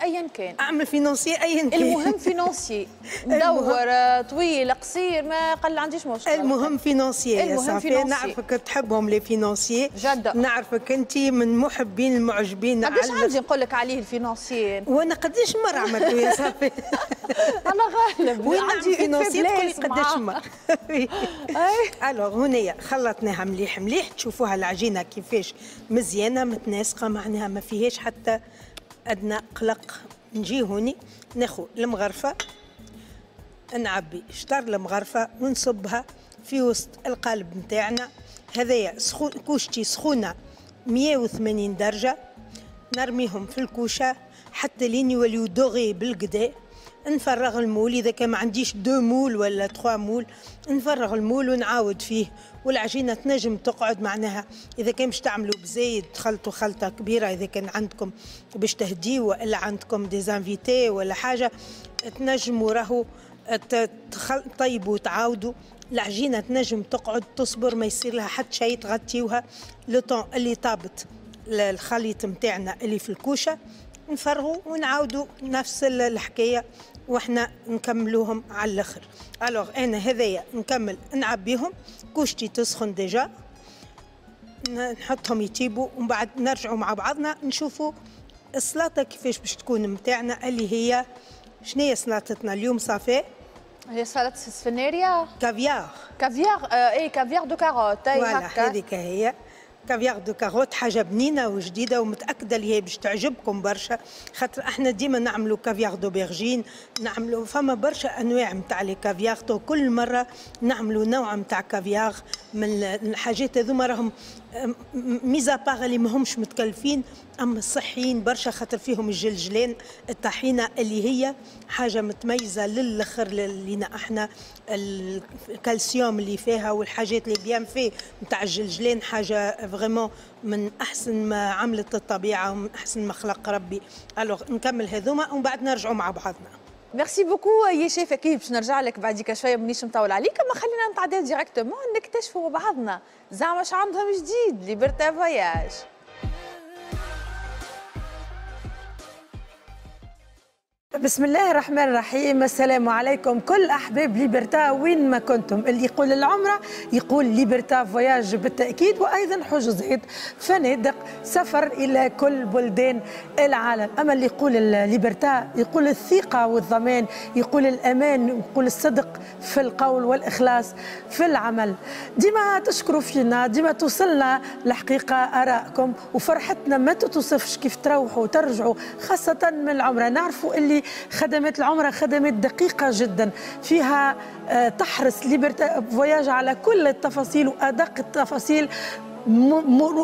ايا كان. اعمل financier ايا كان. المهم financier مدور، طويل، قصير، ما قل عنديش مشكله. المهم financier يا صافي. نعرفك تحبهم les financiers. j'adore. نعرفك انت من محبين المعجبين. قداش عندي نقول لك عليه ال financier. وانا قداش مرة عملته يا صافي. انا غالب. وين عندي financier تقولي قداش مره. alors هنايا خلطناها مليح مليح، تشوفوها العجينة كيفاش مزيانه متناسقه، معناها ما فيهاش حتى ادنى قلق. نجي هوني ناخذ المغرفه، نعبي شطر المغرفه ونصبها في وسط القالب نتاعنا. هذايا سخون، كوشتي سخونة مية وثمانين درجه، نرميهم في الكوشة حتى لين يوليو dorés بالقدا. نفرغ ال moule، اذا كان ما عنديش deux moules ولا trois moules نفرغ ال moule ونعاود فيه. والعجينه تنجم تقعد، معناها اذا كان باش تعملوا بزايد تخلطوا خلطه كبيره، اذا كان عندكم باش تهديوا والا عندكم des invités ولا حاجه، تنجموا راهو طيبوا وتعاودوا. العجينة تنجم تقعد تصبر، ما يصير لها حتى شيء، تغطيوها le temps اللي طابت الخليط نتاعنا اللي في الكوشه، نفرغوا ونعاودوا نفس الحكاية واحنا نكملوهم على الاخر. alors انا هذايا نكمل نعبيهم، كوشتي تسخن déjà. نحطهم يطيبوا ومن بعد نرجعوا مع بعضنا نشوفوا السلطة كيفاش باش تكون نتاعنا اللي هي شنو هي سلطتنا اليوم صافي؟ هي سلطة سفناريا كافيار كافيار آه اي caviar de carottes. اي voilà هذيك هي caviar de carottes، حاجة بنينه وجديدة ومتاكده اللي هي باش تعجبكم برشا، خاطر احنا ديما نعملوا caviar d'aubergine، نعملوا فما برشا انواع نتاع les caviars، كل مرة نعملوا نوع نتاع كافيار من الحاجات هذوما راهم mis à part اللي ماهمش متكلفين اما صحيين برشا، خاطر فيهم الجلجلان الطحينه اللي هي حاجة متميزة للاخر لينا احنا، الكالسيوم اللي فيها والحاجات اللي bienfaits نتاع الجلجلان حاجة vraiment من احسن ما عملت الطبيعة ومن احسن ما خلق ربي. alors نكمل هذوما ومن بعد نرجعوا مع بعضنا. merci beaucoup يا شيف، اكيد باش نرجع لك بعديك شوية مانيش مطول عليك، اما خلينا نتعداو directement نكتشفوا بعضنا زعما اش عندهم جديد Liberta Voyages. بسم الله الرحمن الرحيم. السلام عليكم كل احباب Liberta وين ما كنتم. اللي يقول العمرة يقول Liberta Voyages بالتاكيد، وايضا حجوزات فنادق سفر الى كل بلدان العالم. اما اللي يقول Liberta يقول الثقة والضمان، يقول الامان، يقول الصدق في القول والاخلاص في العمل. ديما تشكروا فينا، ديما توصلنا الحقيقة ارائكم وفرحتنا ما تتوصفش كيف تروحوا وترجعوا خاصة من العمرة. نعرفوا اللي خدمات العمرة خدمات دقيقة جدا، فيها تحرص Liberta Voyages على كل التفاصيل وأدق التفاصيل،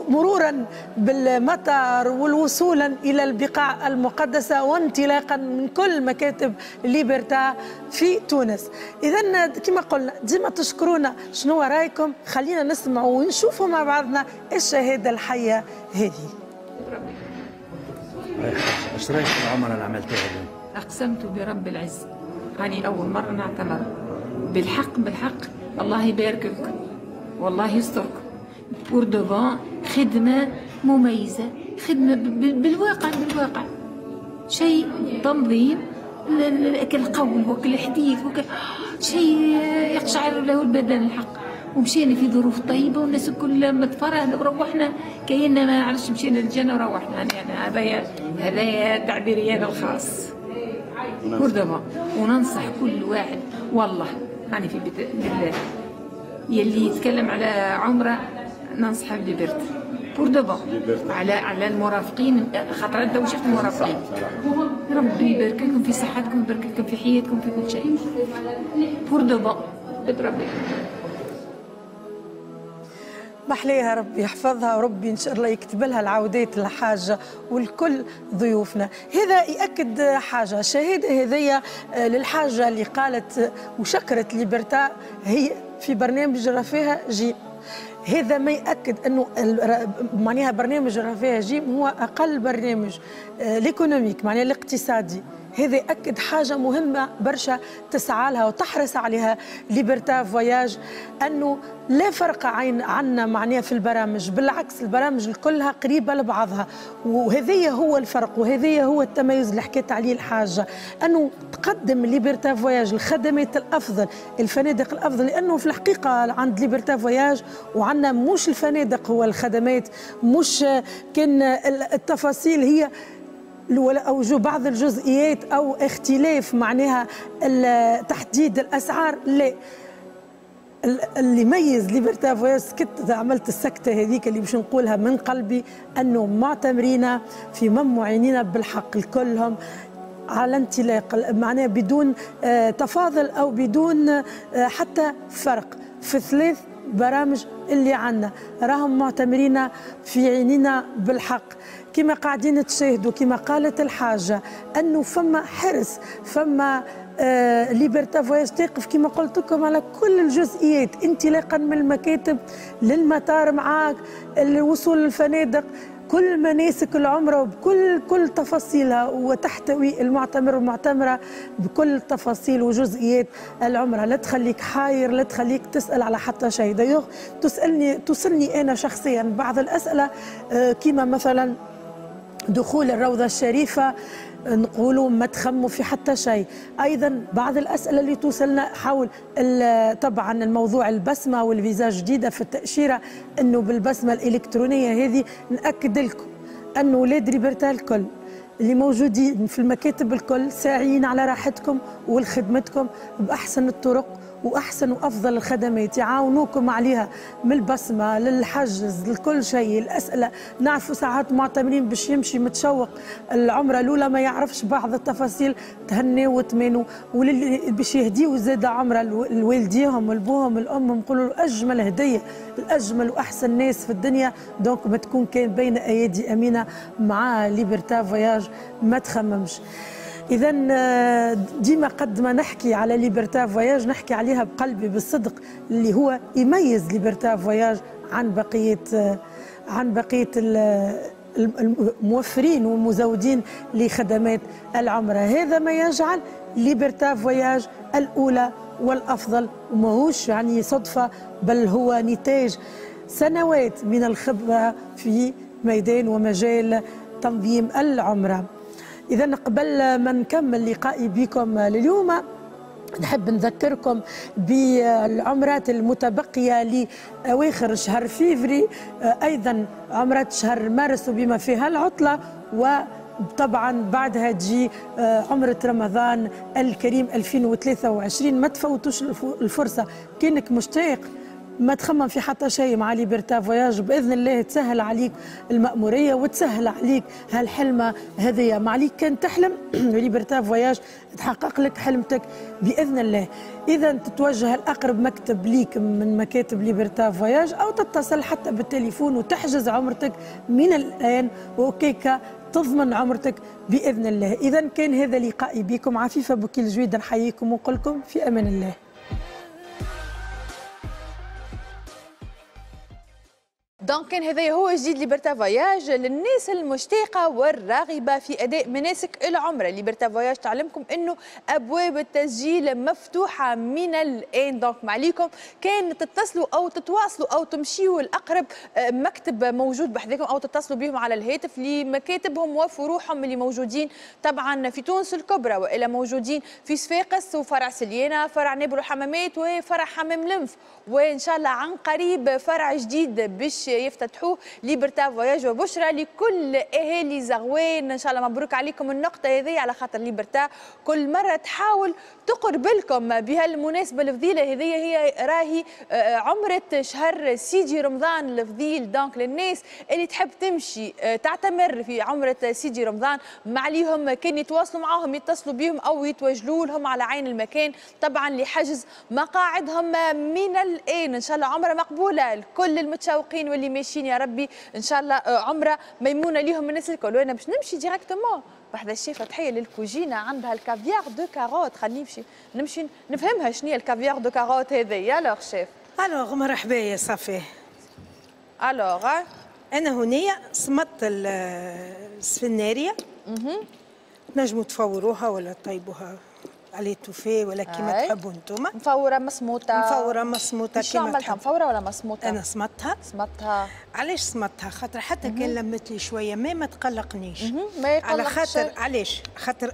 مرورا بالمطار والوصولا إلى البقاع المقدسة وانطلاقا من كل مكاتب Liberta في تونس. إذا كما قلنا ديما تشكرونا، شنو رأيكم؟ خلينا نسمعوا ونشوفوا مع بعضنا الشهادة الحية هذه. ايش رايك في العمرة اللي عملتها اليوم؟ أقسمت برب العزة هاني أول مرة نعتمر بالحق بالحق، الله يبارك لكم والله يستركم. pour de bon خدمة مميزة، خدمة بالواقع بالواقع، شيء تنظيم القول وكل حديث وكل شيء يقشعر له البدن الحق. ومشينا في ظروف طيبة والناس الكل متفرهده وروحنا كأننا ما نعرفش مشينا للجنة وروحنا. يعني هذايا هذايا تعبيري انا الخاص pour de bon. وننصح كل واحد والله يعني في بيت بالله يلي يتكلم على عمره ننصحه ب Liberta pour de bon، على على المرافقين، خاطر انت وشفت المرافقين. ربي يبارك لكم في صحتكم، يبارك لكم في حياتكم، في كل شيء pour de bon ربي. محليها ربي يحفظها وربي ان شاء الله يكتب لها العودات الحاجة والكل ضيوفنا. هذا ياكد حاجة، الشهادة هذيا للحاجة اللي قالت وشكرت Liberta هي في برنامج رفاهه جيم. هذا ما ياكد انه معناها برنامج رفاهه جيم هو اقل برنامج l'économique، معناها الاقتصادي. هذا يأكد حاجة مهمة برشا تسعى لها وتحرص عليها Liberta Voyages، أنه لا فرق عين عنا معناها في البرامج، بالعكس البرامج كلها قريبة لبعضها، وهذا هو الفرق وهذا هو التميز اللي حكيت عليه الحاجة، أنه تقدم Liberta Voyages الخدمات الأفضل، الفنادق الأفضل، لأنه في الحقيقة عند Liberta Voyages وعندنا مش الفنادق هو الخدمات، مش كان التفاصيل هي أو جو بعض الجزئيات أو اختلاف معناها تحديد الأسعار، لا. اللي يميز Liberta Voyages، سكت عملت السكتة هذيك اللي باش نقولها من قلبي، أنه معتمرين في ممعينين بالحق الكلهم على انطلاق، معناها بدون تفاضل أو بدون حتى فرق في ثلاث برامج اللي عندنا، راهم معتمرين في عينينا بالحق. كما قاعدين تشاهدوا كما قالت الحاجة أنه فما حرص، فما آه Liberta Voyages تقف كما قلت لكم على كل الجزئيات، انطلاقا من المكاتب للمطار معاك، الوصول للفنادق، كل مناسك العمرة وبكل كل تفاصيلها، وتحتوي المعتمر والمعتمرة بكل تفاصيل وجزئيات العمرة. لا تخليك حاير، لا تخليك تسأل على حتى شيء. d'ailleurs تسألني تسألني أنا شخصيا بعض الأسئلة، كما مثلا دخول الروضة الشريفة، نقولوا ما تخموا في حتى شيء. ايضا بعض الاسئلة اللي توصلنا حول طبعا الموضوع البسمة والفيزا جديدة في التاشيره، انه بالبسمه الالكترونية هذه ناكد لكم انه ولاد ليبرتا الكل اللي موجودين في المكاتب الكل ساعيين على راحتكم ولخدمتكم باحسن الطرق واحسن وافضل الخدمات، يعاونوكم عليها من البصمة للحجز لكل شيء. الاسئلة نعرفوا ساعات معتمرين باش يمشي متشوق العمرة الاولى ما يعرفش بعض التفاصيل، تهنوا وتمنوا، وللي باش يهديوا زاد عمره لوالديهم ولبوهم الام نقولوا اجمل هديه، الاجمل واحسن ناس في الدنيا، donc ما تكون كان بين ايادي امينه مع ليبرتا فواياج، ما تخممش. إذا ديما قد ما نحكي على ليبرتا فواياج نحكي عليها بقلبي بالصدق، اللي هو يميز ليبرتا فواياج عن بقية عن بقية الموفرين والمزودين لخدمات العمرة. هذا ما يجعل ليبرتا فواياج الأولى والأفضل، وماهوش يعني صدفة، بل هو نتاج سنوات من الخبرة في ميدان ومجال تنظيم العمرة. إذا قبل ما نكمل لقائي بكم لليوم نحب نذكركم بالعمرات المتبقية لأواخر شهر فيفري، أيضا عمرات شهر مارس وبما فيها العطلة، وطبعا بعدها تجي عمرة رمضان الكريم ألفين وثلاثة وعشرين. ما تفوتوش الفرصة، كأنك مشتاق ما تخمم في حتى شيء مع ليبرتا فواياج بإذن الله تسهل عليك المأمورية وتسهل عليك هالحلمة هذية. ما عليك كان تحلم ليبرتا فواياج تحقق لك حلمتك بإذن الله. إذا تتوجه لأقرب مكتب ليك من مكاتب ليبرتا فواياج، أو تتصل حتى بالتليفون وتحجز عمرتك من الآن، وكيكا تضمن عمرتك بإذن الله. إذا كان هذا لقائي بكم، عفيفة بوكيل جويد نحييكم ونقول لكم في أمان الله. donc كان هذا هو جديد ليبرتا فواياج للناس المشتاقه والراغبه في اداء مناسك العمرة. ليبرتا فواياج تعلمكم انه ابواب التسجيل مفتوحة من الان، donc ما عليكم كان تتصلوا او تتواصلوا او تمشيوا لاقرب مكتب موجود بحذاكم، او تتصلوا بهم على الهاتف لمكاتبهم وفروعهم اللي موجودين طبعا في تونس الكبرى، والى موجودين في صفاقس وفرع سليانه، فرع نابل وحمامات، وفرع حمام لنف، وان شاء الله عن قريب فرع جديد باش يفتتحوه ليبرتا فواياج. وبشرى لكل اهالي زغوان، ان شاء الله مبروك عليكم النقطة هذه، على خاطر ليبرتا كل مرة تحاول تقرب لكم بهالمناسبه الفضيلة هذه، هي راهي عمره شهر سيدي رمضان الفضيل. donc للناس اللي تحب تمشي تعتمر في عمره سيدي رمضان ما عليهم كان يتواصلوا معاهم، يتصلوا بهم او يتوجهوا لهم على عين المكان طبعا لحجز مقاعدهم من الان. ان شاء الله عمره مقبولة لكل المتشوقين واللي ماشيين يا ربي، ان شاء الله عمره ميمونة ليهم الناس الكل. وانا باش نمشي directement بحذا الشيف تحية للكوجينه، عندها ال caviar de carottes، خليني نمشي نمشي نفهمها شنو هي ال caviar de carottes هذه. alors chef. alors مرحبا يا صافي. alors انا هنايا صمت السفناريه، تنجموا تفوروها ولا تطيبوها على étouffée ولا كيما تحبوا انتوما. مفوره مسموطه، مفوره مسموطه كيما تحبوا. مفوره ولا مسموطه؟ انا صمتها. صمتها علاش صمتها؟ خاطر حتى كان لمت لي شوية ما ما تقلقنيش. ما يقلقش. على خاطر علاش؟ خاطر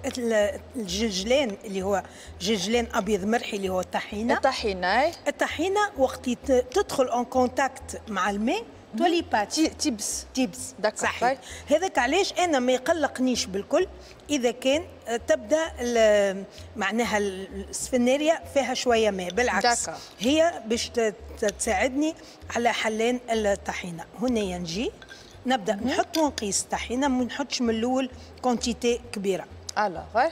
الجلجلان اللي هو جلجلان ابيض مرحي اللي هو الطحينه. الطحينه الطحينه وقت تدخل en contact مع الماء تولي pâte تيبس تيبس. صحيح. هذاك علاش انا ما يقلقنيش بالكل اذا كان تبدا معناها السفناريه فيها شوية ماء، بالعكس دكا. هي باش تساعدني على حلان الطحينه. هنا نجي نبدا نحط ونقيس الطحينه، ما نحطش من الاول quantité كبيرة. alors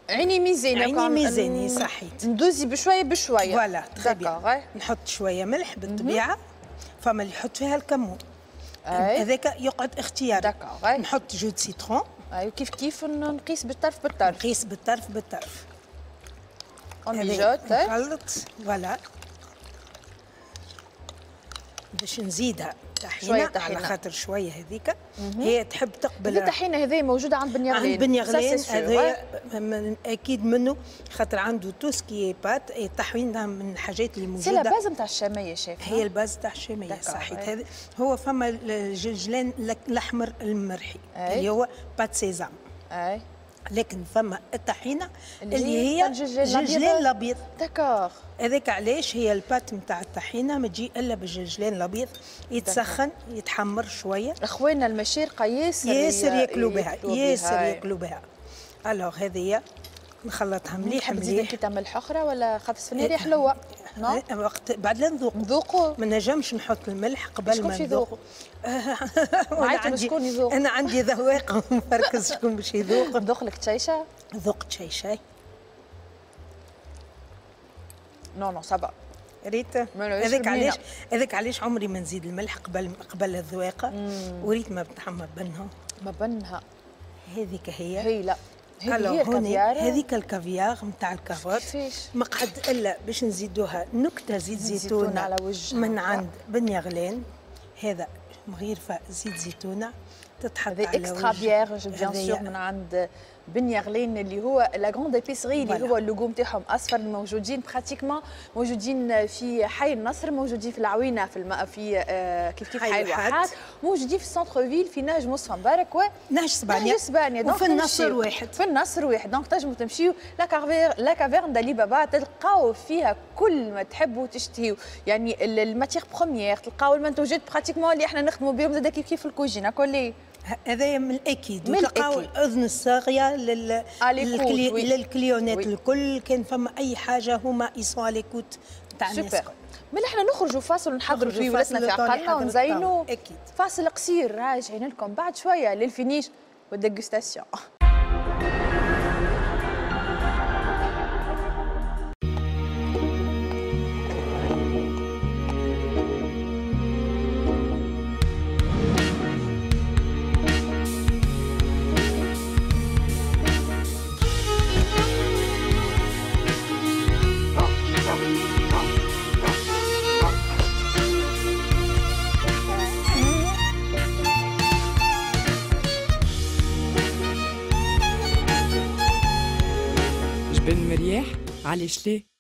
عيني ميزاني، عيني ميزاني صحيت، ندوزي بشوية بشوية. voilà très bien. نحط شوية ملح بالطبيعة، فما اللي يحط فيها الكمون هذاك يقعد اختياري. نحط jus de citron. اي كيف كيف نقيس بالطرف بالطرف. نقيس بالطرف بالطرف. on mijote. نخلط voilà باش نزيدها طحينه على خاطر شوية هذيك هي تحب تقبل. الطحينه هذه موجودة عند بن يغلان. عند بن يغلان هذا اكيد منه، خاطر عنده tout ce qui est pâtes. الطحينه من الحاجات اللي موجودة. c'est la base نتاع الشامية شيف. هي ال base نتاع الشامية صحيح. هذا هو فما الجلجلان الاحمر المرحي اللي هو pâte sésame. اي لكن فما الطحينه اللي هي الجلجلان الابيض. d'accord. هذاك علاش هي ال pâte نتاع الطحينه ما تجي الا بالجلجلان الابيض، يتسخن يتحمر شوية. اخواننا المشارقه ياسر ياسر ياكلوا بها، ياسر ياكلوا بها. alors هذه نخلطها مليح مليح. تزيد كي تعمل حخره ولا خاطر السفناريا حلوة؟ وقت بعد لا نذوق نذوقوا، ما نجمش نحط الملح قبل ما نذوقوا. انا شكون يذوق؟ انا عندي ذواقه نفركز شكون باش يذوق. نذوق لك تشيشه؟ ذوق تشيشه. non non ça va. ريت هذاك علاش، هذاك علاش عمري ما نزيد الملح قبل قبل الذواقه. وريت ما بتحمر بنها ما بنها هذيك هي هي لا هذه هي الكافيار، هذيك الكافيار نتاع ال carotte ما قعد الا باش نزيدوها نكتة زيت زيتونه على وجهها من عند بن يغلان. هذا مغيرفه زيت زيتونه تتحط على extra vierge bien sûr من عند بن يغلان اللي هو la grande épicerie اللي هو اللوغو نتاعهم اصفر، موجودين pratiquement موجودين في حي النصر، موجودين في العوينة، في الم... في آه كيف كيف حي الواحات، موجودين في ال centre-ville في نهج مصطفى مبارك و نهج اسبانيا، نهج اسبانيا. وفي النصر واحد، في النصر واحد. donc تنجموا تمشيو la caverne la caverne d'Ali Baba تلقاو فيها كل ما تحبوا تشتهيو، يعني ال matières premières تلقاو المنتوجات pratiquement اللي احنا نخدموا بهم زاد كيف كيف في الكوجينه كلي. هذايا من الاكيد. وتلقاو الاذن الصاغيه لل... لل cli... لل clientèle الكل، كان فما اي حاجة هما ils sont à l'écoute تاع الناس. ملي احنا نخرجوا فاصل ونحضروا فيه ولادنا في عقلنا ونزينوا. اكيد فاصل قصير راجعين لكم بعد شوية لل finish وال dégustation. بن مرياح علاش ليه؟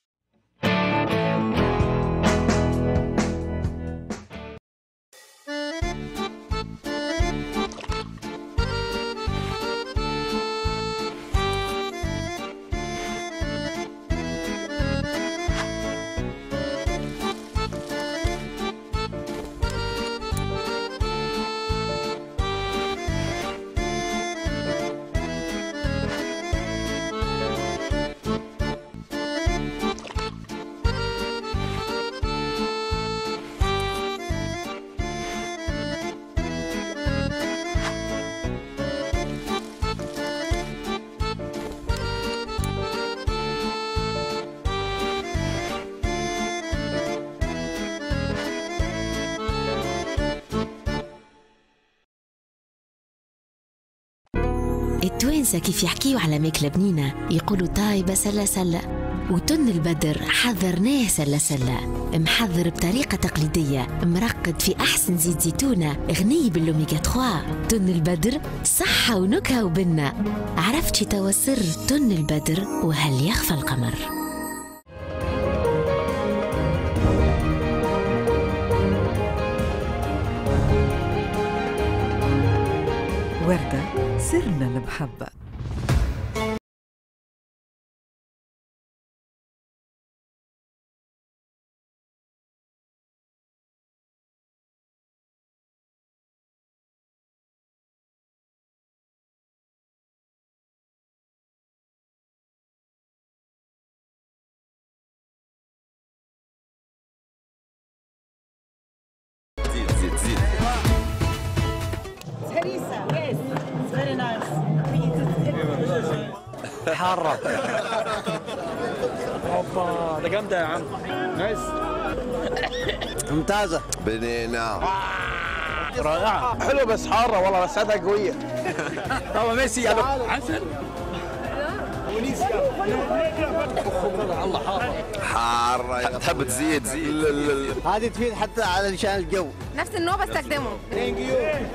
التوانسة كيف يحكيوا على ماكلة بنينة يقولوا طايبة سلة سلة، وتن البدر حضرناه سلة سلة، محضر بطريقة تقليدية، مرقد في أحسن زيت زيتونة، غني بالأوميغا ثلاثة. تن البدر صحة ونكهة وبنة. عرفت شي توا سر تن البدر وهل يخفى القمر؟ وردة سرنا المحبة. زيد زيد زيد هريسة. Yes, it's very nice. حارة. اوبا ده جامدة يا عم. nice. ممتازة. بنينة. رائعة. حلوة بس حارة والله، بس هذا قوية. طبعا ميسي عسل. الله حارة. حارة تحب تزيد زيد. هذه تفيد حتى علشان الجو. نفس النوع بستخدمه. thank you.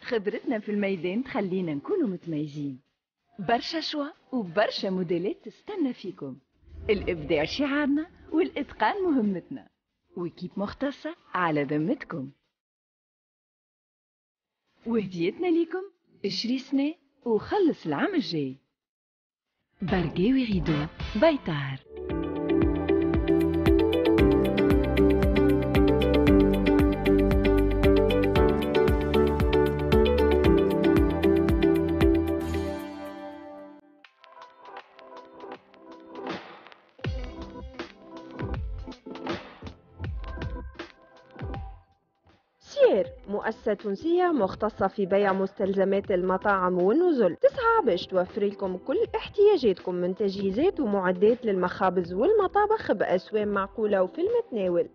خبرتنا في الميدان تخلينا نكونوا متميزين. برشا choix وبرشا موديلات تستنى فيكم. الإبداع شعارنا والإتقان مهمتنا. و équipe مختصة على ذمتكم. وهديتنا ليكم اشري سنة وخلص العام الجاي. برقاوي rideaux بيطار. مؤسسة تونسية مختصة في بيع مستلزمات المطاعم والنزل، تسعى باش توفر لكم كل احتياجاتكم من تجهيزات ومعدات للمخابز والمطابخ بأسوام معقولة وفي المتناول.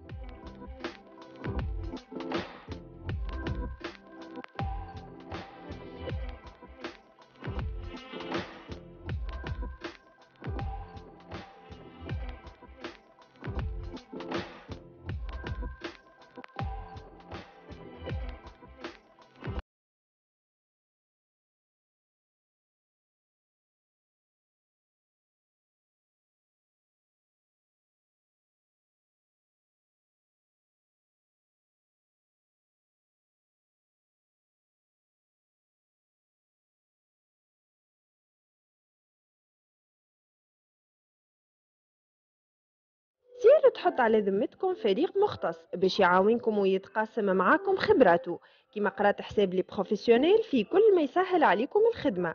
سير تحط على ذمتكم فريق مختص باش يعاونكم ويتقاسم معاكم خبراته، كما قرات حساب les professionnels في كل ما يسهل عليكم الخدمة.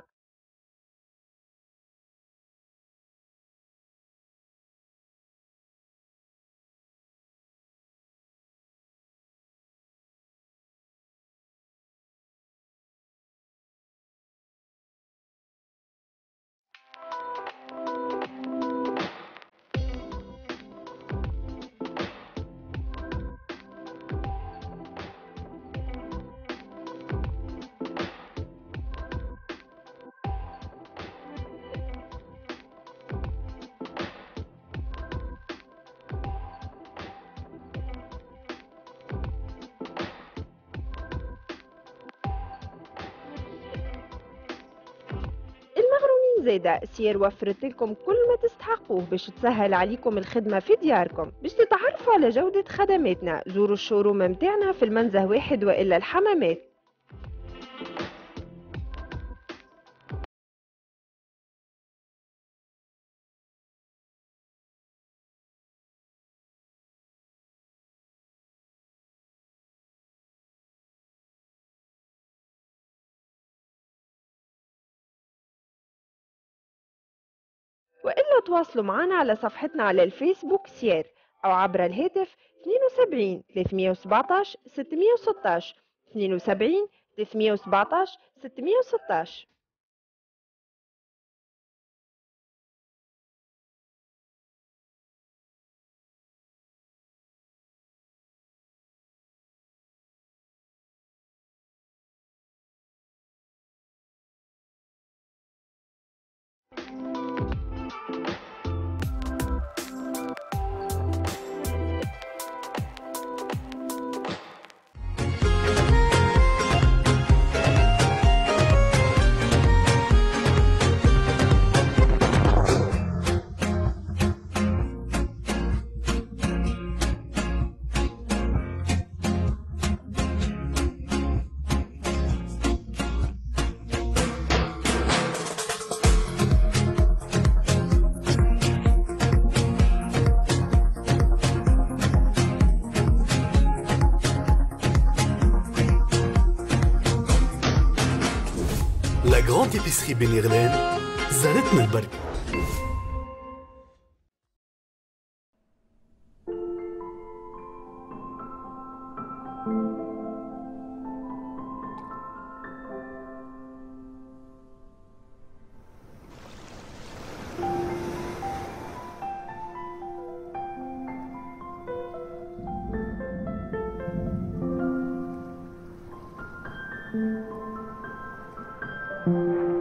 زادة سير وفرت لكم كل ما تستحقوه باش تسهل عليكم الخدمة في دياركم. باش تتعرفوا على جودة خدماتنا زوروا ال showroom متاعنا في المنزه واحد وإلا الحمامات. وإلا تواصلوا معنا على صفحتنا على الفيسبوك سير أو عبر الهاتف اثنين وسبعين ثلاثمية وسبعطاش ستمية وستاش اثنين وسبعين ثلاثمية وسبعطاش ستمية وستاش. La Grande Épicerie بن غلان زارتنا البركة. Thank you.